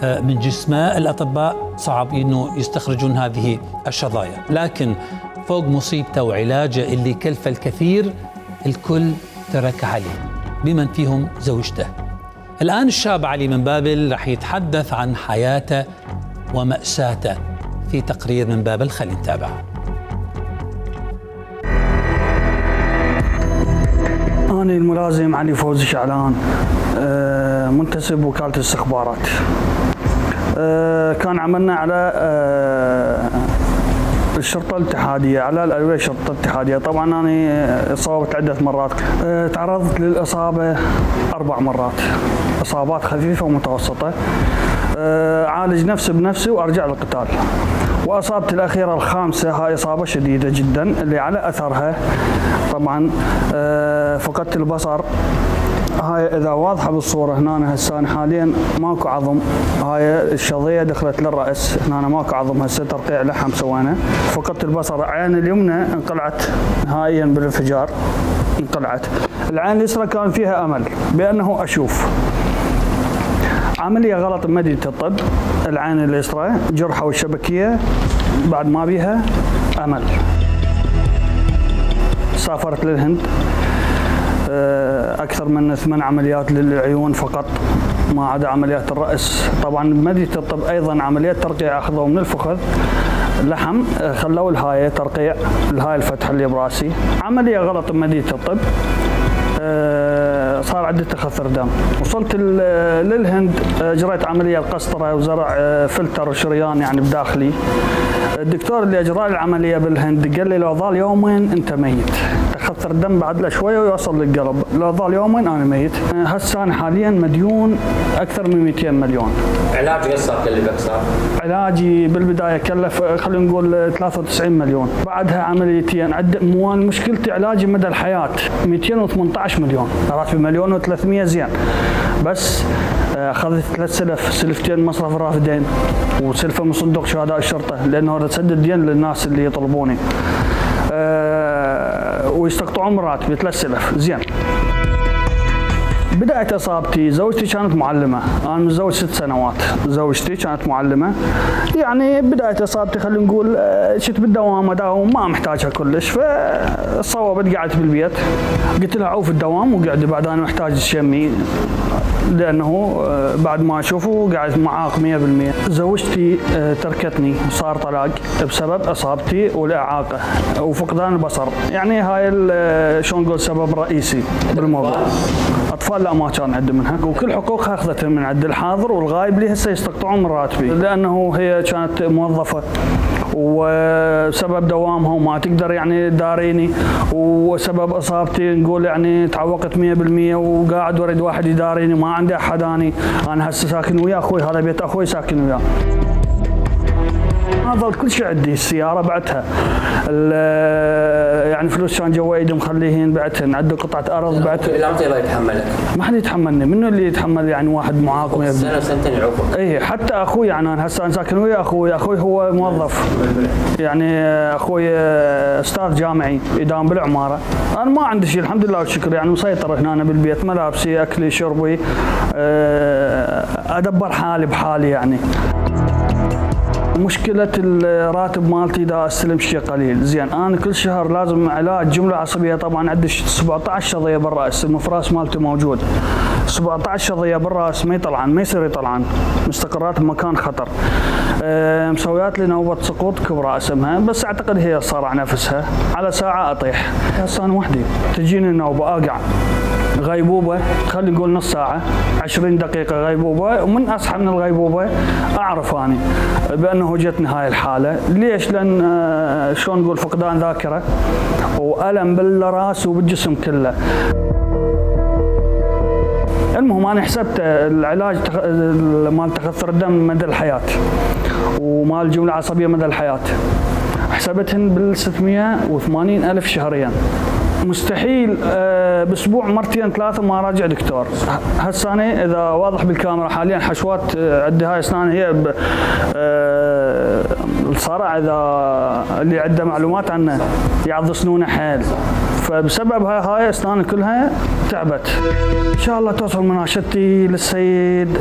Speaker 1: من جسمه. الأطباء صعب إنه يستخرجون هذه الشظايا، لكن فوق مصيبته وعلاجه اللي كلف الكثير الكل ترك عليه بمن فيهم زوجته. الآن الشاب علي من بابل رح يتحدث عن حياته ومأساته في تقرير من بابل. خلينا نتابع.
Speaker 5: أنا الملازم علي فوزي شعلان، منتسب وكالة الاستخبارات. كان عملنا على الشرطة الاتحادية، على الألوية الشرطة الاتحادية. طبعا أنا إصابت عدة مرات، تعرضت للإصابة أربع مرات، إصابات خفيفة ومتوسطة. عالج نفسي بنفسي وأرجع للقتال. وأصابتي الأخيرة الخامسة هاي إصابة شديدة جدا اللي على أثرها طبعا فقدت البصر. هاي إذا واضحة بالصورة هنا هسه حاليا ماكو عظم، هاي الشظية دخلت للرأس، هنا ماكو عظم، هسه ترقيع لحم سوينا. فقدت البصر، عين اليمنى انقلعت نهائيا بالانفجار، انقلعت. العين اليسرى كان فيها أمل بأنه أشوف. عملية غلط بمدينة الطب، العين اليسرى جرحة والشبكية بعد ما بيها أمل. سافرت للهند، أكثر من ثمان عمليات للعيون فقط ما عدا عمليات الرأس. طبعا بمدينة الطب أيضا عمليات ترقيع أخذوا من الفخذ لحم، خلوا الهاية ترقيع الهاي الفتحة اللي براسي. عملية غلط بمدينة الطب، صار عندي تخثر دم. وصلت للهند، اجريت عمليه القسطره وزرع فلتر وشريان يعني بداخلي. الدكتور اللي اجرى لي العمليه بالهند قال لي لو ظل يومين انت ميت، تخثر الدم بعد له شويه ويوصل للقلب، لو ظل يومين انا ميت. هسه انا حاليا مديون اكثر من مئتين مليون.
Speaker 7: علاج قد صار كلفك صار؟
Speaker 5: علاجي بالبدايه كلف خلينا نقول ثلاثة وتسعين مليون، بعدها عمليتين. عد مو مشكلتي علاجي مدى الحياه مئتين وثمانية عشر مليون، راتبي مليون وثلاثمئة زين، بس اخذت ثلاث سلف، سلفتين مصرف الرافدين وسلفه من صندوق شهداء الشرطه لانه اريد اسدد دين للناس اللي يطلبوني. أه ويستقطعون من راتبي ثلاث سلف زين. بداية اصابتي زوجتي كانت معلمة، انا متزوج ست سنوات، زوجتي كانت معلمة. يعني بداية اصابتي خلينا نقول شت بالدوام اداوم ما محتاجها كلش، فصوبت قعدت بالبيت. قلت لها عوف الدوام وقعدي بعد انا محتاج شمي لانه بعد ما اشوفه قاعد معاق مئة بالمئة. زوجتي تركتني وصار طلاق بسبب اصابتي والاعاقه وفقدان البصر، يعني هاي شلون نقول سبب رئيسي بالموضوع. اطفال لا ما كان عندي منها، وكل حقوقها اخذتها من عند الحاضر والغايب لي هسه يستقطعون من راتبي، لانه هي كانت موظفه وسبب دوامها وما تقدر يعني تداريني، وسبب اصابتي نقول يعني تعوقت مئة بالمئة وقاعد اريد واحد يداريني، ما عندي احد. اني انا هسه ساكن ويا اخوي، هذا بيت اخوي ساكن وياه. ما ظل كل شيء عندي، السياره بعتها، يعني فلوس كان جوا ايدي مخليهن بعتهن، عندي قطعه ارض بعتها.
Speaker 9: لا الله يتحملك.
Speaker 5: ما حد يتحملني، منو اللي يتحمل يعني واحد معاق؟
Speaker 9: سنه وسنتين يعوقك.
Speaker 5: اي حتى اخوي، يعني انا هسه انا ساكن ويا اخوي، اخوي هو موظف، يعني اخوي استاذ جامعي يداوم بالعماره. انا ما عندي شيء الحمد لله والشكر، يعني مسيطر هنا أنا بالبيت، ملابسي اكلي شربي، ادبر حالي بحالي. يعني مشكلة الراتب مالتي دا استلم شيء قليل، زين انا كل شهر لازم علاج جملة عصبية، طبعا عندي سبعة عشر شظية بالراس، المفراس مالتي موجود، سبعة عشر شظية بالراس ما يطلعن، ما يصير يطلعن، مستقرات بمكان خطر. أه مسويات لي نوبة سقوط كبرى اسمها، بس اعتقد هي صارع نفسها، على ساعة اطيح، هسه انا وحدي تجيني النوبة اقع، غيبوبة خلينا نقول نص ساعة عشرين دقيقة غيبوبة، ومن أصحى من الغيبوبة أعرف أني بأنه جتني هاي الحالة. ليش؟ لأن شلون نقول فقدان ذاكرة وألم بالراس وبالجسم كله. المهم أنا حسبت العلاج مال تخثر الدم مدى الحياة ومال الجملة العصبية مدى الحياة، حسبتهن بال ستمئة وثمانين ألف شهريا. مستحيل أه باسبوع مرتين ثلاثه ما راجع دكتور. هسه انا اذا واضح بالكاميرا حاليا حشوات عندي هاي اسنان، هي أه الصرع اذا اللي عنده معلومات عنه يعض سنونه حيل، فبسبب هاي هاي اسناني كلها تعبت. ان شاء الله توصل مناشدتي للسيد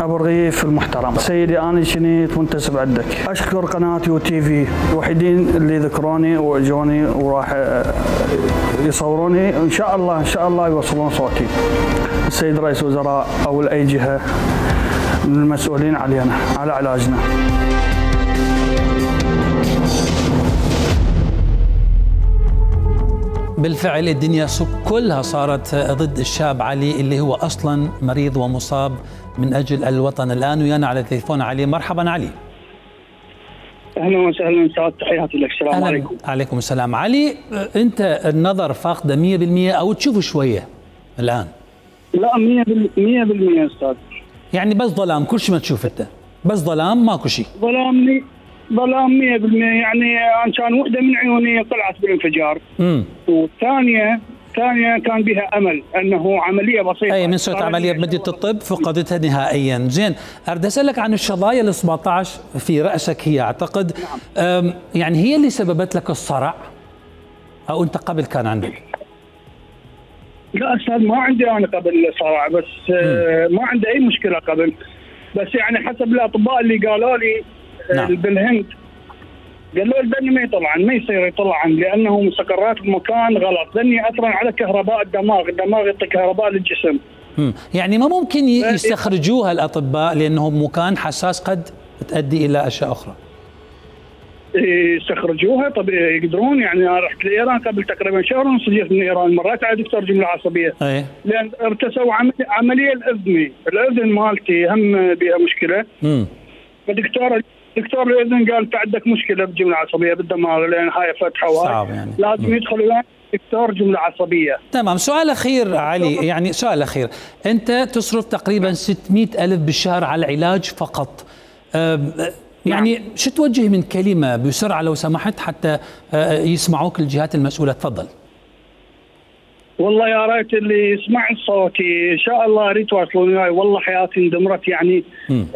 Speaker 5: ابو الرغيف المحترم. سيدي انا شنيت منتسب عندك، اشكر قناه يو تي في الوحيدين اللي ذكروني واجوني وراح يصوروني، ان شاء الله ان شاء الله يوصلون صوتي. السيد رئيس وزراء او لاي جهه من المسؤولين علينا على علاجنا.
Speaker 1: بالفعل الدنيا كلها صارت ضد الشاب علي اللي هو اصلا مريض ومصاب من اجل الوطن. الان ويانا على التليفون علي. مرحبا علي.
Speaker 8: اهلا وسهلا سعد، تحياتي لك. السلام
Speaker 1: أهلاً.
Speaker 8: عليكم.
Speaker 1: عليكم السلام. علي انت النظر فاقده مئة بالمئة او تشوف شويه الان؟
Speaker 8: لا مئة بالمئة استاذ.
Speaker 1: يعني بس ظلام، كل شيء ما تشوف انت بس ظلام ماكو شيء.
Speaker 8: ظلام ظلام مئة بالمئة. يعني أنا كان وحده من عيوني طلعت بالانفجار. امم والثانيه ثانيه كان بها امل انه عمليه بسيطه.
Speaker 1: اي من سوت عمليه بمدينه الطب فقدتها نهائيا. زين اريد اسالك عن الشظايا ال سبعة عشر في راسك، هي اعتقد نعم. يعني هي اللي سببت لك الصرع او انت قبل كان عندك؟
Speaker 8: لا استاذ ما عندي انا قبل صرع، بس مم. ما عندي اي مشكله قبل، بس يعني حسب الاطباء اللي قالوا لي نعم. بالهند قالوا لي ذني ما يطلعن، ما يصير يطلعن لانه مسكرات بمكان غلط، ذني اثرا على كهرباء الدماغ، الدماغ يعطي كهرباء للجسم.
Speaker 1: امم يعني ما ممكن يستخرجوها الاطباء لانه مكان حساس قد تؤدي الى اشياء اخرى؟
Speaker 8: يستخرجوها. طب يقدرون. يعني انا رحت لايران قبل تقريبا شهر ونص، جيت من ايران، مريت على دكتور جمله عصبيه. أيه. لان ارتسوا عمليه الاذني، الاذن مالتي هم بها مشكله. امم فدكتور دكتور الاذن قال انت عندك مشكله بالجمله العصبيه بالدماغ لان هاي فتحه وهاي يعني. لازم يدخل وياك دكتور جمله عصبيه.
Speaker 1: تمام. سؤال اخير علي، يعني سؤال اخير، انت تصرف تقريبا ستمئة ألف بالشهر على العلاج فقط. يعني نعم. شو توجه من كلمه بسرعه لو سمحت حتى يسمعوك الجهات المسؤوله؟ تفضل.
Speaker 8: والله يا ريت اللي يسمع صوتي ان شاء الله ريت يواصلون وياي، والله حياتي اندمرت. يعني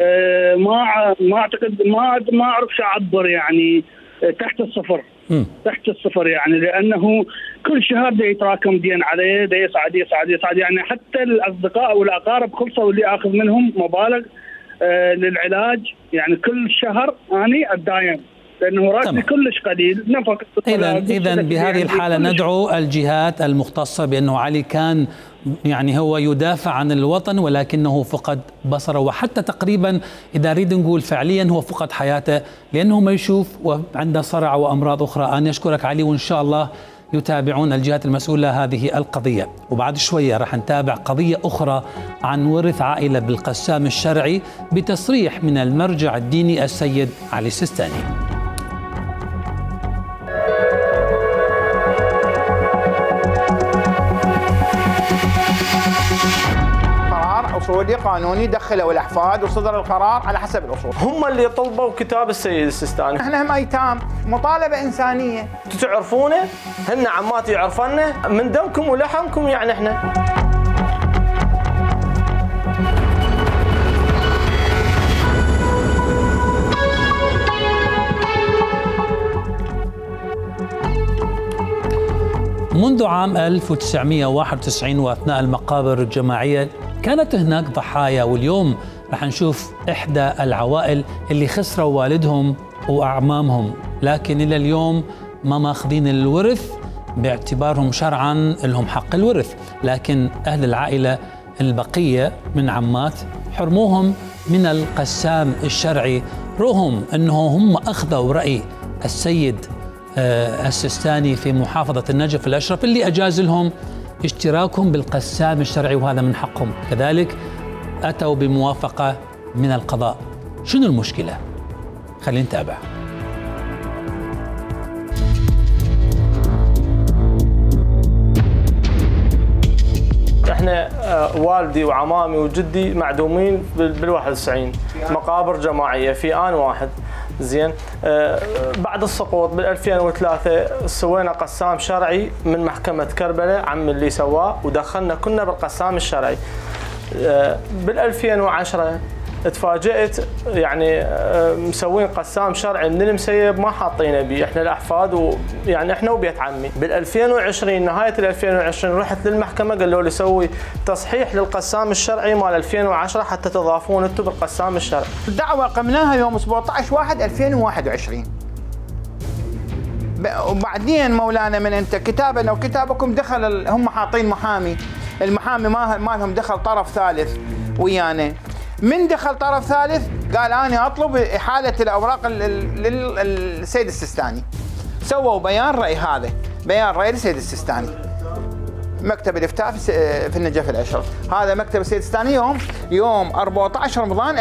Speaker 8: آه ما ما اعتقد ما ما اعرف شو اعبر، يعني آه تحت الصفر. م. تحت الصفر يعني، لانه كل شهر دا يتراكم دين عليه، دا يصعد يصعد يصعد. يعني حتى الاصدقاء والاقارب خلصوا اللي اخذ منهم مبالغ آه للعلاج، يعني كل شهر اني اتداين لانه راتبي كلش قليل، نفقه
Speaker 1: اذا اذا بهذه الحاله ندعو الجهات المختصه بانه علي كان يعني هو يدافع عن الوطن ولكنه فقد بصره، وحتى تقريبا اذا نريد نقول فعليا هو فقد حياته لانه ما يشوف وعنده صرع وامراض اخرى. انا اشكرك علي، وان شاء الله يتابعون الجهات المسؤوله هذه القضيه. وبعد شويه راح نتابع قضيه اخرى عن ورث عائله بالقسام الشرعي بتصريح من المرجع الديني السيد علي السيستاني.
Speaker 6: قرار اصولي قانوني دخلوا الاحفاد وصدر القرار على حسب الاصول.
Speaker 7: هم اللي طلبوا كتاب السيد السيستاني.
Speaker 6: احنا هم ايتام، مطالبه انسانيه.
Speaker 7: انتم تعرفونه؟ هن عماتي يعرفنا من دمكم ولحمكم يعني احنا.
Speaker 1: منذ عام ألف وتسعمئة وواحد وتسعين واثناء المقابر الجماعيه كانت هناك ضحايا، واليوم رح نشوف إحدى العوائل اللي خسروا والدهم وأعمامهم، لكن إلى اليوم ما ماخذين الورث باعتبارهم شرعا لهم حق الورث، لكن أهل العائلة البقية من عمات حرموهم من القسام الشرعي رغم أنه هم أخذوا رأي السيد السيستاني في محافظة النجف الأشرف اللي أجاز لهم اشتراكهم بالقسام الشرعي وهذا من حقهم. كذلك أتوا بموافقة من القضاء. شنو المشكلة؟ خلينا نتابع.
Speaker 7: احنا والدي وعمامي وجدي معدومين بالواحد وتسعين مقابر جماعية في آن واحد. زين آه بعد السقوط بال ألفين وثلاثة سوينا قسام شرعي من محكمة كربلاء، عم اللي سواه ودخلنا كنا بالقسام الشرعي. آه بال ألفين وعشرة تفاجئت يعني آه مسوين قسام شرعي من المسيب ما حاطينه بيه احنا الاحفاد ويعني احنا وبيت عمي. بال ألفين وعشرين نهاية ال ألفين وعشرين رحت للمحكمة قالوا لي سوي تصحيح للقسام الشرعي مال ألفين وعشرة حتى تضافون انتم بالقسام الشرعي.
Speaker 6: الدعوة قمناها يوم سبعة عشر واحد ألفين وواحد وعشرين. وبعدين مولانا من انت كتابنا وكتابكم دخل هم حاطين محامي، المحامي ما مالهم دخل طرف ثالث ويانا. من دخل طرف ثالث قال انا اطلب احاله الاوراق للسيد السيستاني. سووا بيان راي، هذا بيان راي للسيد السيستاني. مكتب الافتاء في النجف الاشرف، هذا مكتب السيد السيستاني يوم يوم أربعة عشر رمضان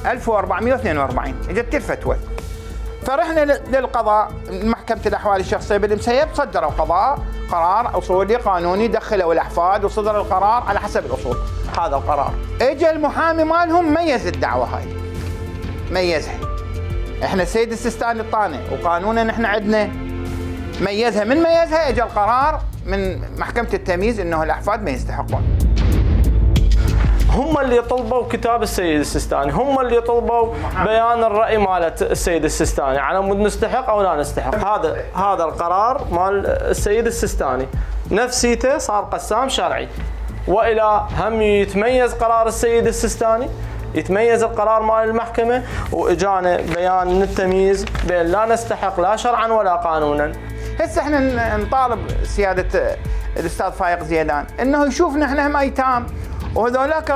Speaker 6: ألف وأربعمئة واثنين وأربعين اجت الفتوى. فرحنا للقضاء، محكمة الأحوال الشخصية بالمسيب صدروا قضاء قرار أصولي قانوني دخلوا الأحفاد وصدر القرار على حسب الأصول. هذا القرار اجى المحامي مالهم ميز الدعوة هاي، ميزها. احنا السيد السيستاني الطاني وقانونا نحن عندنا ميزها، من ميزها اجى القرار من محكمة التمييز انه الأحفاد ما يستحقون.
Speaker 7: هم اللي طلبوا كتاب السيد السيستاني، هم اللي طلبوا بيان الرأي مالت السيد السيستاني على مود نستحق او لا نستحق. هذا هذا القرار مال السيد السيستاني نفسيته صار قسام شرعي، والى هم يتميز قرار السيد السيستاني، يتميز القرار مال المحكمة، واجانا بيان من التمييز بان لا نستحق لا شرعا ولا قانونا.
Speaker 6: هسه احنا نطالب سيادة الاستاذ فايق زيدان انه يشوفنا احنا هم ايتام، وهذولاك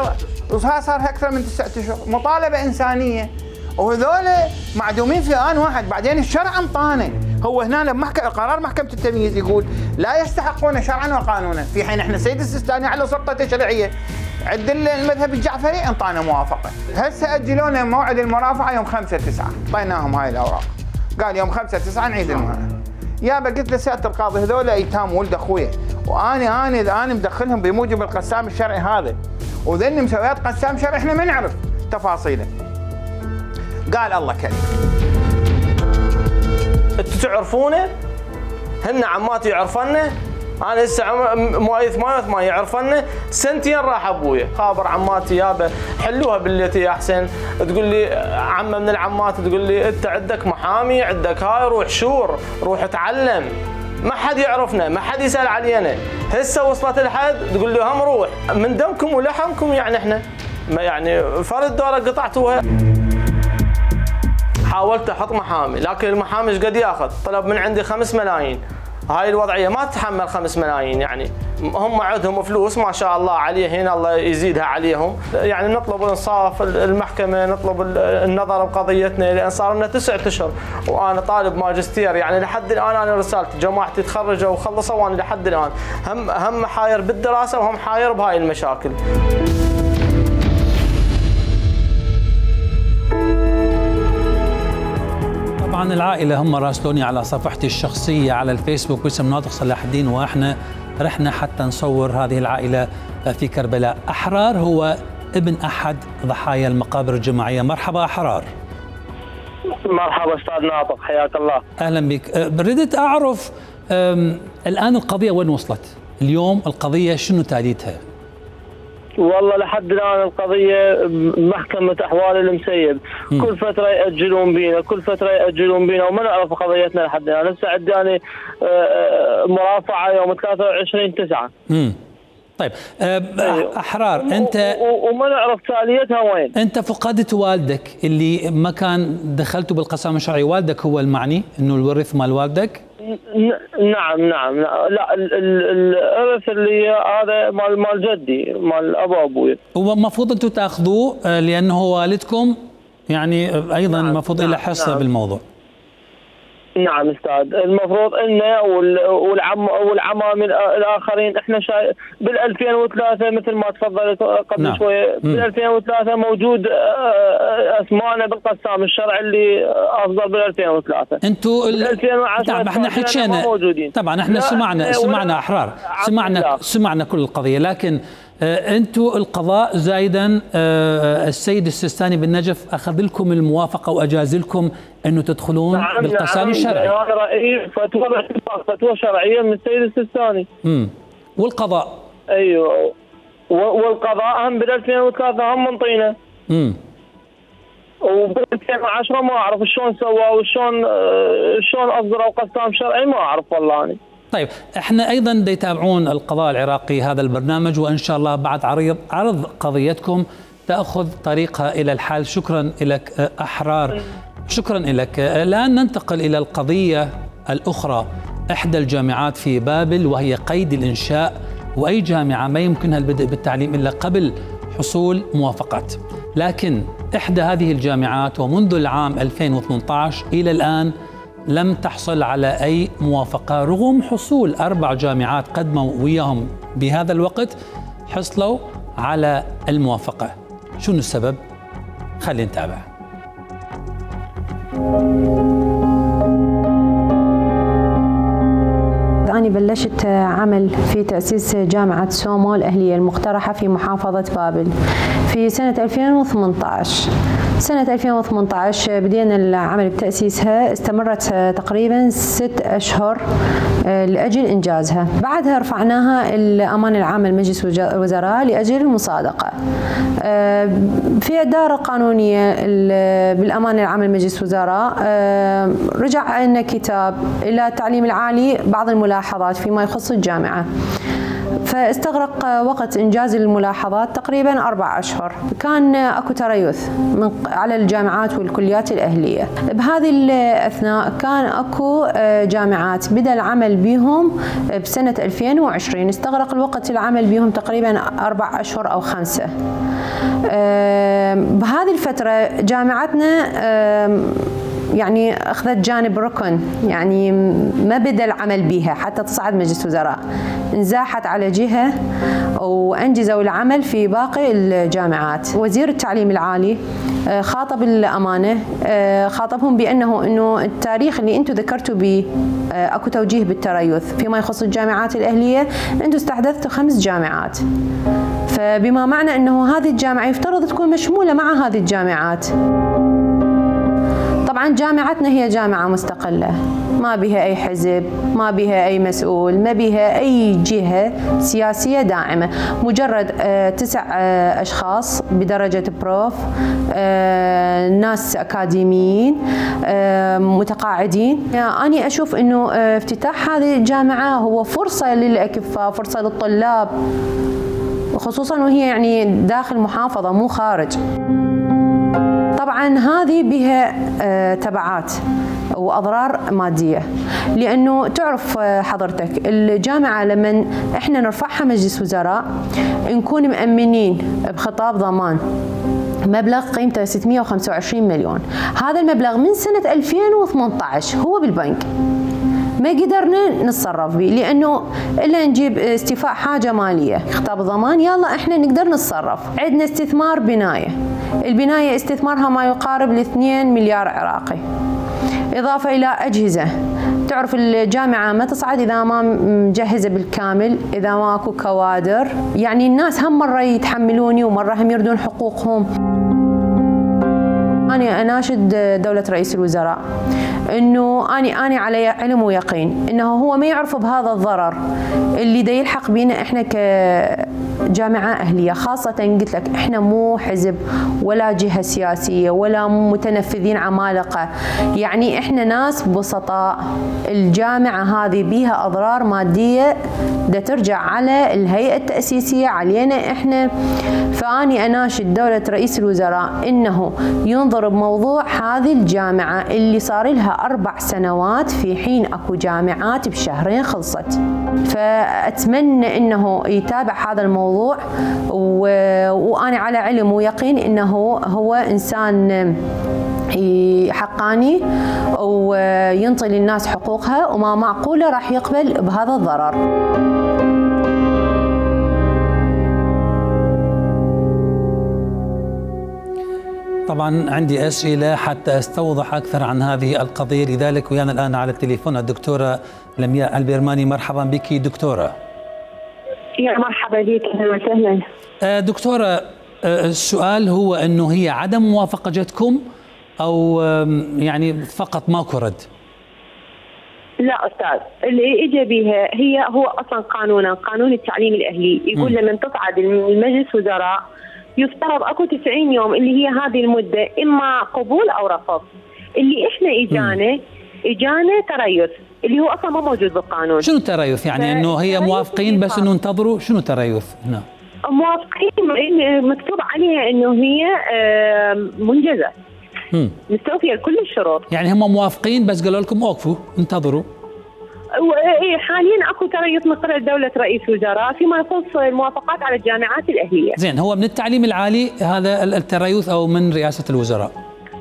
Speaker 6: صار اكثر من تسعة اشهر، مطالبه انسانيه، وهذول معدومين في ان واحد. بعدين الشرع انطانا، هو هنا محكمة قرار محكمه التمييز يقول لا يستحقون شرعا وقانونا، في حين احنا السيد السيستاني على سلطه تشريعيه عند المذهب الجعفري انطانا موافقه. هسه اجلونا موعد المرافعه يوم خمسة تسعة، اعطيناهم هاي الاوراق، قال يوم خمسة تسعة نعيد المرافعه. يابا قلت لسياده القاضي هذول ايتام ولد اخويا، وانا انا انا مدخلهم بموجب القسام الشرعي هذا، وذني مسويات قسام شرعي احنا ما نعرف تفاصيله. قال الله كريم.
Speaker 7: انتم تعرفونه؟ هن عماتي يعرفنه؟ انا هسه مواليد ثمانية وثمانين يعرفنه، سنتين راح ابويا، خابر عماتي يابا حلوها بالتي يا حسين، تقول لي عمه من العمات تقول لي انت عندك محامي عندك هاي روح شور روح اتعلم، ما حد يعرفنا ما حد يسال علينا. هسه وصلت الحد تقول لي هم روح من دمكم ولحمكم يعني احنا ما يعني فرد دوره قطعتوها. حاولت احط محامي، لكن المحامي ايش قد ياخذ؟ طلب من عندي خمس ملايين. هاي الوضعيه ما تتحمل خمس ملايين، يعني هم عندهم فلوس ما شاء الله عليهن، الله يزيدها عليهم. يعني نطلب انصاف المحكمه، نطلب النظر بقضيتنا، لان صار لنا تسعة اشهر وانا طالب ماجستير. يعني لحد الان انا رسالتي جماعتي تخرجوا وخلصوا وانا لحد الان هم هم حاير بالدراسه وهم حاير بهاي المشاكل.
Speaker 1: طبعا العائلة هم راسلوني على صفحتي الشخصية على الفيسبوك باسم ناطق صلاح الدين، واحنا رحنا حتى نصور هذه العائلة في كربلاء. أحرار هو ابن أحد ضحايا المقابر الجماعية. مرحبا أحرار.
Speaker 10: مرحبا أستاذ ناطق، حياك الله.
Speaker 1: أهلا بك. بديت أعرف الآن القضية وين وصلت؟ اليوم القضية شنو تاليتها؟
Speaker 10: والله لحد الان القضيه محكمه احوال المسيب، م. كل فتره ياجلون بينا، كل فتره ياجلون بينا وما نعرف قضيتنا لحد الان. هسه عندي مرافعه يوم ثلاثة وعشرين تسعة.
Speaker 1: امم طيب احرار انت
Speaker 10: وما نعرف تاليتها وين.
Speaker 1: انت فقدت والدك اللي ما كان دخلته بالقسام الشرعي، والدك هو المعني انه الورث مال والدك؟
Speaker 10: نعم نعم لا الارث اللي هذا مال مال جدي، مال ابو ابوي.
Speaker 1: هو المفروض انتم تاخذوه لانه والدكم يعني ايضا المفروض
Speaker 10: نعم
Speaker 1: له حصه
Speaker 10: نعم
Speaker 1: بالموضوع.
Speaker 10: نعم استاذ، المفروض انه والعم والعمام الاخرين احنا شاي بال ألفين وثلاثة مثل ما تفضلت قبل نعم. شويه، بال ألفين وثلاثة موجود اسمائنا بالقسام الشرعي اللي اصدر بال ألفين وثلاثة.
Speaker 1: انتم
Speaker 10: ألفين وعشرة
Speaker 1: طبعا احنا حكينا طبعا احنا سمعنا سمعنا احرار سمعنا سمعنا كل القضيه، لكن انتم القضاء زايدا السيد السيستاني بالنجف اخذ لكم الموافقه واجاز لكم انه تدخلون
Speaker 10: نعم
Speaker 1: بالقسام
Speaker 10: نعم
Speaker 1: الشرعي.
Speaker 10: هذا رايي فتوى فتوى شرعيه من السيد السيستاني.
Speaker 1: امم والقضاء
Speaker 10: ايوه والقضاء هم بال ألفين وثلاثة هم منطينا.
Speaker 1: امم
Speaker 10: وبال ألفين وعشرة ما اعرف شلون سواه وشلون شلون اصدروا قسام شرعي ما اعرف والله أنا.
Speaker 1: طيب احنا ايضا يتابعون القضاء العراقي هذا البرنامج، وان شاء الله بعد عرض عرض قضيتكم تاخذ طريقها الى الحل. شكرا لك احرار، شكرا لك. الان ننتقل الى القضيه الاخرى، احدى الجامعات في بابل وهي قيد الانشاء، واي جامعه ما يمكنها البدء بالتعليم الا قبل حصول موافقات، لكن احدى هذه الجامعات ومنذ العام ألفين وثمانية عشر الى الان لم تحصل على أي موافقة، رغم حصول أربع جامعات قدموا وياهم بهذا الوقت حصلوا على الموافقة. شنو السبب؟ خلينا نتابع.
Speaker 11: أنا بلشت عمل في تأسيس جامعة سومو الأهلية المقترحة في محافظة بابل في سنة ألفين وثمانية عشر. سنة ألفين وثمانية عشر بدينا العمل بتأسيسها، استمرت تقريبا ست أشهر لأجل إنجازها. بعدها رفعناها الأمانة العامة لمجلس الوزراء لأجل المصادقة. في إدارة قانونية بالأمانة العامة لمجلس الوزراء رجع لنا كتاب إلى التعليم العالي بعض الملاحظات فيما يخص الجامعة، فاستغرق وقت إنجاز الملاحظات تقريبا أربع أشهر. كان أكو تريث من على الجامعات والكليات الأهلية. بهذه الأثناء كان أكو جامعات بدأ العمل بهم بسنة ألفين وعشرين، استغرق الوقت العمل بهم تقريبا أربع أشهر أو خمسة. بهذه الفترة جامعتنا يعني أخذت جانب ركن، يعني ما بدأ العمل بها حتى تصعد مجلس الوزراء، انزاحت على جهة وأنجزوا العمل في باقي الجامعات. وزير التعليم العالي خاطب الأمانة، خاطبهم بأنه أنه التاريخ اللي أنتم ذكرتوا به أكو توجيه بالتريث فيما يخص الجامعات الأهلية، أنتم استحدثتوا خمس جامعات، فبما معنى أنه هذه الجامعة يفترض تكون مشمولة مع هذه الجامعات. طبعا جامعتنا هي جامعة مستقلة، ما بها أي حزب، ما بها أي مسؤول، ما بها أي جهة سياسية داعمة، مجرد تسع أشخاص بدرجة بروف، ناس أكاديميين متقاعدين. أنا أشوف أنه افتتاح هذه الجامعة هو فرصة للأكفاء، فرصة للطلاب، خصوصا وهي يعني داخل محافظة مو خارج. طبعا هذه بها تبعات واضرار ماديه، لانه تعرف حضرتك الجامعه لما احنا نرفعها مجلس وزراء نكون مأمنين بخطاب ضمان مبلغ قيمته ستمئة وخمسة وعشرين مليون. هذا المبلغ من سنه ألفين وثمانية عشر هو بالبنك، ما قدرنا نتصرف به لانه الا نجيب استيفاء حاجه ماليه خطاب ضمان يلا احنا نقدر نتصرف. عندنا استثمار بنايه، البنايه استثمارها ما يقارب ل اثنين مليار عراقي، اضافه الى اجهزه. تعرف الجامعه ما تصعد اذا ما مجهزه بالكامل، اذا ماكو كوادر. يعني الناس هم مره يتحملوني ومره هم يردون حقوقهم. أنا أناشد دولة رئيس الوزراء إنه أنا أنا على علم ويقين إنه هو ما يعرف بهذا الضرر اللي دا يلحق بينا إحنا كجامعة أهلية، خاصة قلت لك إحنا مو حزب ولا جهة سياسية ولا متنفذين عمالقة، يعني إحنا ناس بسطاء. الجامعة هذه بيها أضرار مادية دا ترجع على الهيئة التأسيسية علينا إحنا. فأني أناشد دولة رئيس الوزراء إنه ينظر بموضوع هذه الجامعة اللي صار لها أربع سنوات في حين أكو جامعات بشهرين خلصت. فأتمنى إنه يتابع هذا الموضوع، و... وأنا على علم ويقين إنه هو إنسان حقاني وينطي للناس حقوقها، وما معقولة راح يقبل بهذا الضرر.
Speaker 1: طبعا عندي أسئلة حتى أستوضح أكثر عن هذه القضية، لذلك ويانا الآن على التليفون الدكتورة لمياء البرماني. مرحبا بك دكتورة.
Speaker 12: يا مرحبا بك، أهلا وسهلا.
Speaker 1: دكتورة، السؤال هو أنه هي عدم موافقتكم أو يعني فقط ماكو رد؟
Speaker 12: لا أستاذ، اللي إجا بها هي هو أصلا قانونا قانون التعليم الأهلي يقول م. لما تصعد المجلس وزراء يفترض اكو تسعين يوم اللي هي هذه المده، اما قبول او رفض. اللي احنا اجانا اجانا تريث اللي هو اصلا ما موجود بالقانون.
Speaker 1: شنو تريث؟ يعني انه هي موافقين بس انه انتظروا؟ شنو تريث هنا؟
Speaker 12: موافقين مكتوب عليها انه هي منجزه مستوفيه لكل الشروط.
Speaker 1: يعني هم موافقين بس قالوا لكم اوقفوا انتظروا.
Speaker 12: ايه حاليا اكو تريث من قبل دوله رئيس الوزراء فيما يخص الموافقات على الجامعات الاهليه.
Speaker 1: زين، هو من التعليم العالي هذا التريث او من رئاسه الوزراء؟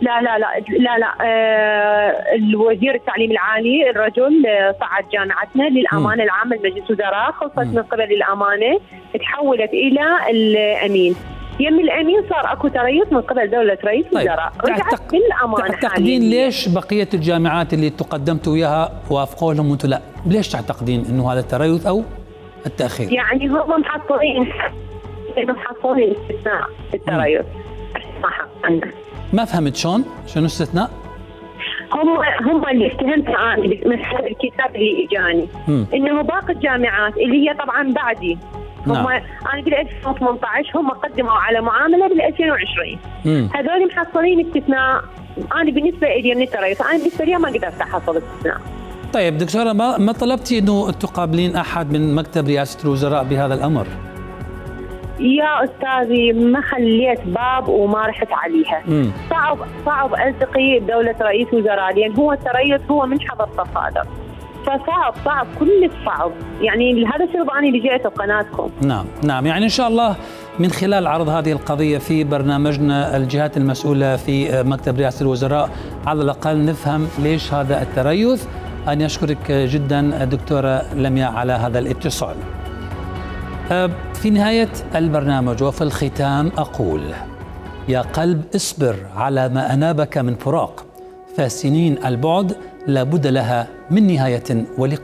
Speaker 12: لا لا لا لا لا آه الوزير التعليم العالي الرجل صعد جامعتنا للامانه العامه لمجلس الوزراء، خلصت من قبل الامانه تحولت الى الامين. يم الامين صار اكو تريث من قبل دوله رئيس الوزراء.
Speaker 1: طيب. رجعت بالامانه. تعتقدين ليش بقيه الجامعات اللي تقدمتوا وياها وافقوا لهم وانتم لا؟ ليش تعتقدين انه هذا التريث او التاخير؟
Speaker 12: يعني هم محصلين محصلين استثناء التريث. ما حقنا.
Speaker 1: ما فهمت شلون؟ شنو استثناء؟
Speaker 12: هم هم اللي اتهمت انا من الكتاب اللي اجاني انه باقي الجامعات اللي هي طبعا بعدي هم نعم. انا بال ألفين وثمانية عشر هم قدموا على معامله بال ألفين وعشرين، هذول محصلين استثناء. انا بالنسبه لي من التريث انا بالنسبه لي ما قدرت احصل استثناء.
Speaker 1: طيب دكتوره، ما ما طلبتي انه تقابلين احد من مكتب رئاسه الوزراء بهذا الامر؟
Speaker 12: يا استاذي ما خليت باب وما رحت عليها. مم. صعب صعب التقي بدوله رئيس وزراء لان هو التريث هو من حظر التصادر، فصعب صعب كل الصعب. يعني هذا السبب انا اللي جيت بقناتكم.
Speaker 1: نعم نعم، يعني ان شاء الله من خلال عرض هذه القضيه في برنامجنا الجهات المسؤوله في مكتب رئاسه الوزراء على الاقل نفهم ليش هذا التريث. أنا أشكرك جدا دكتورة لمياء على هذا الاتصال. في نهاية البرنامج وفي الختام أقول: يا قلب اصبر على ما أنابك من فراق، فسنين البعد لابد لها من نهاية ولقاء.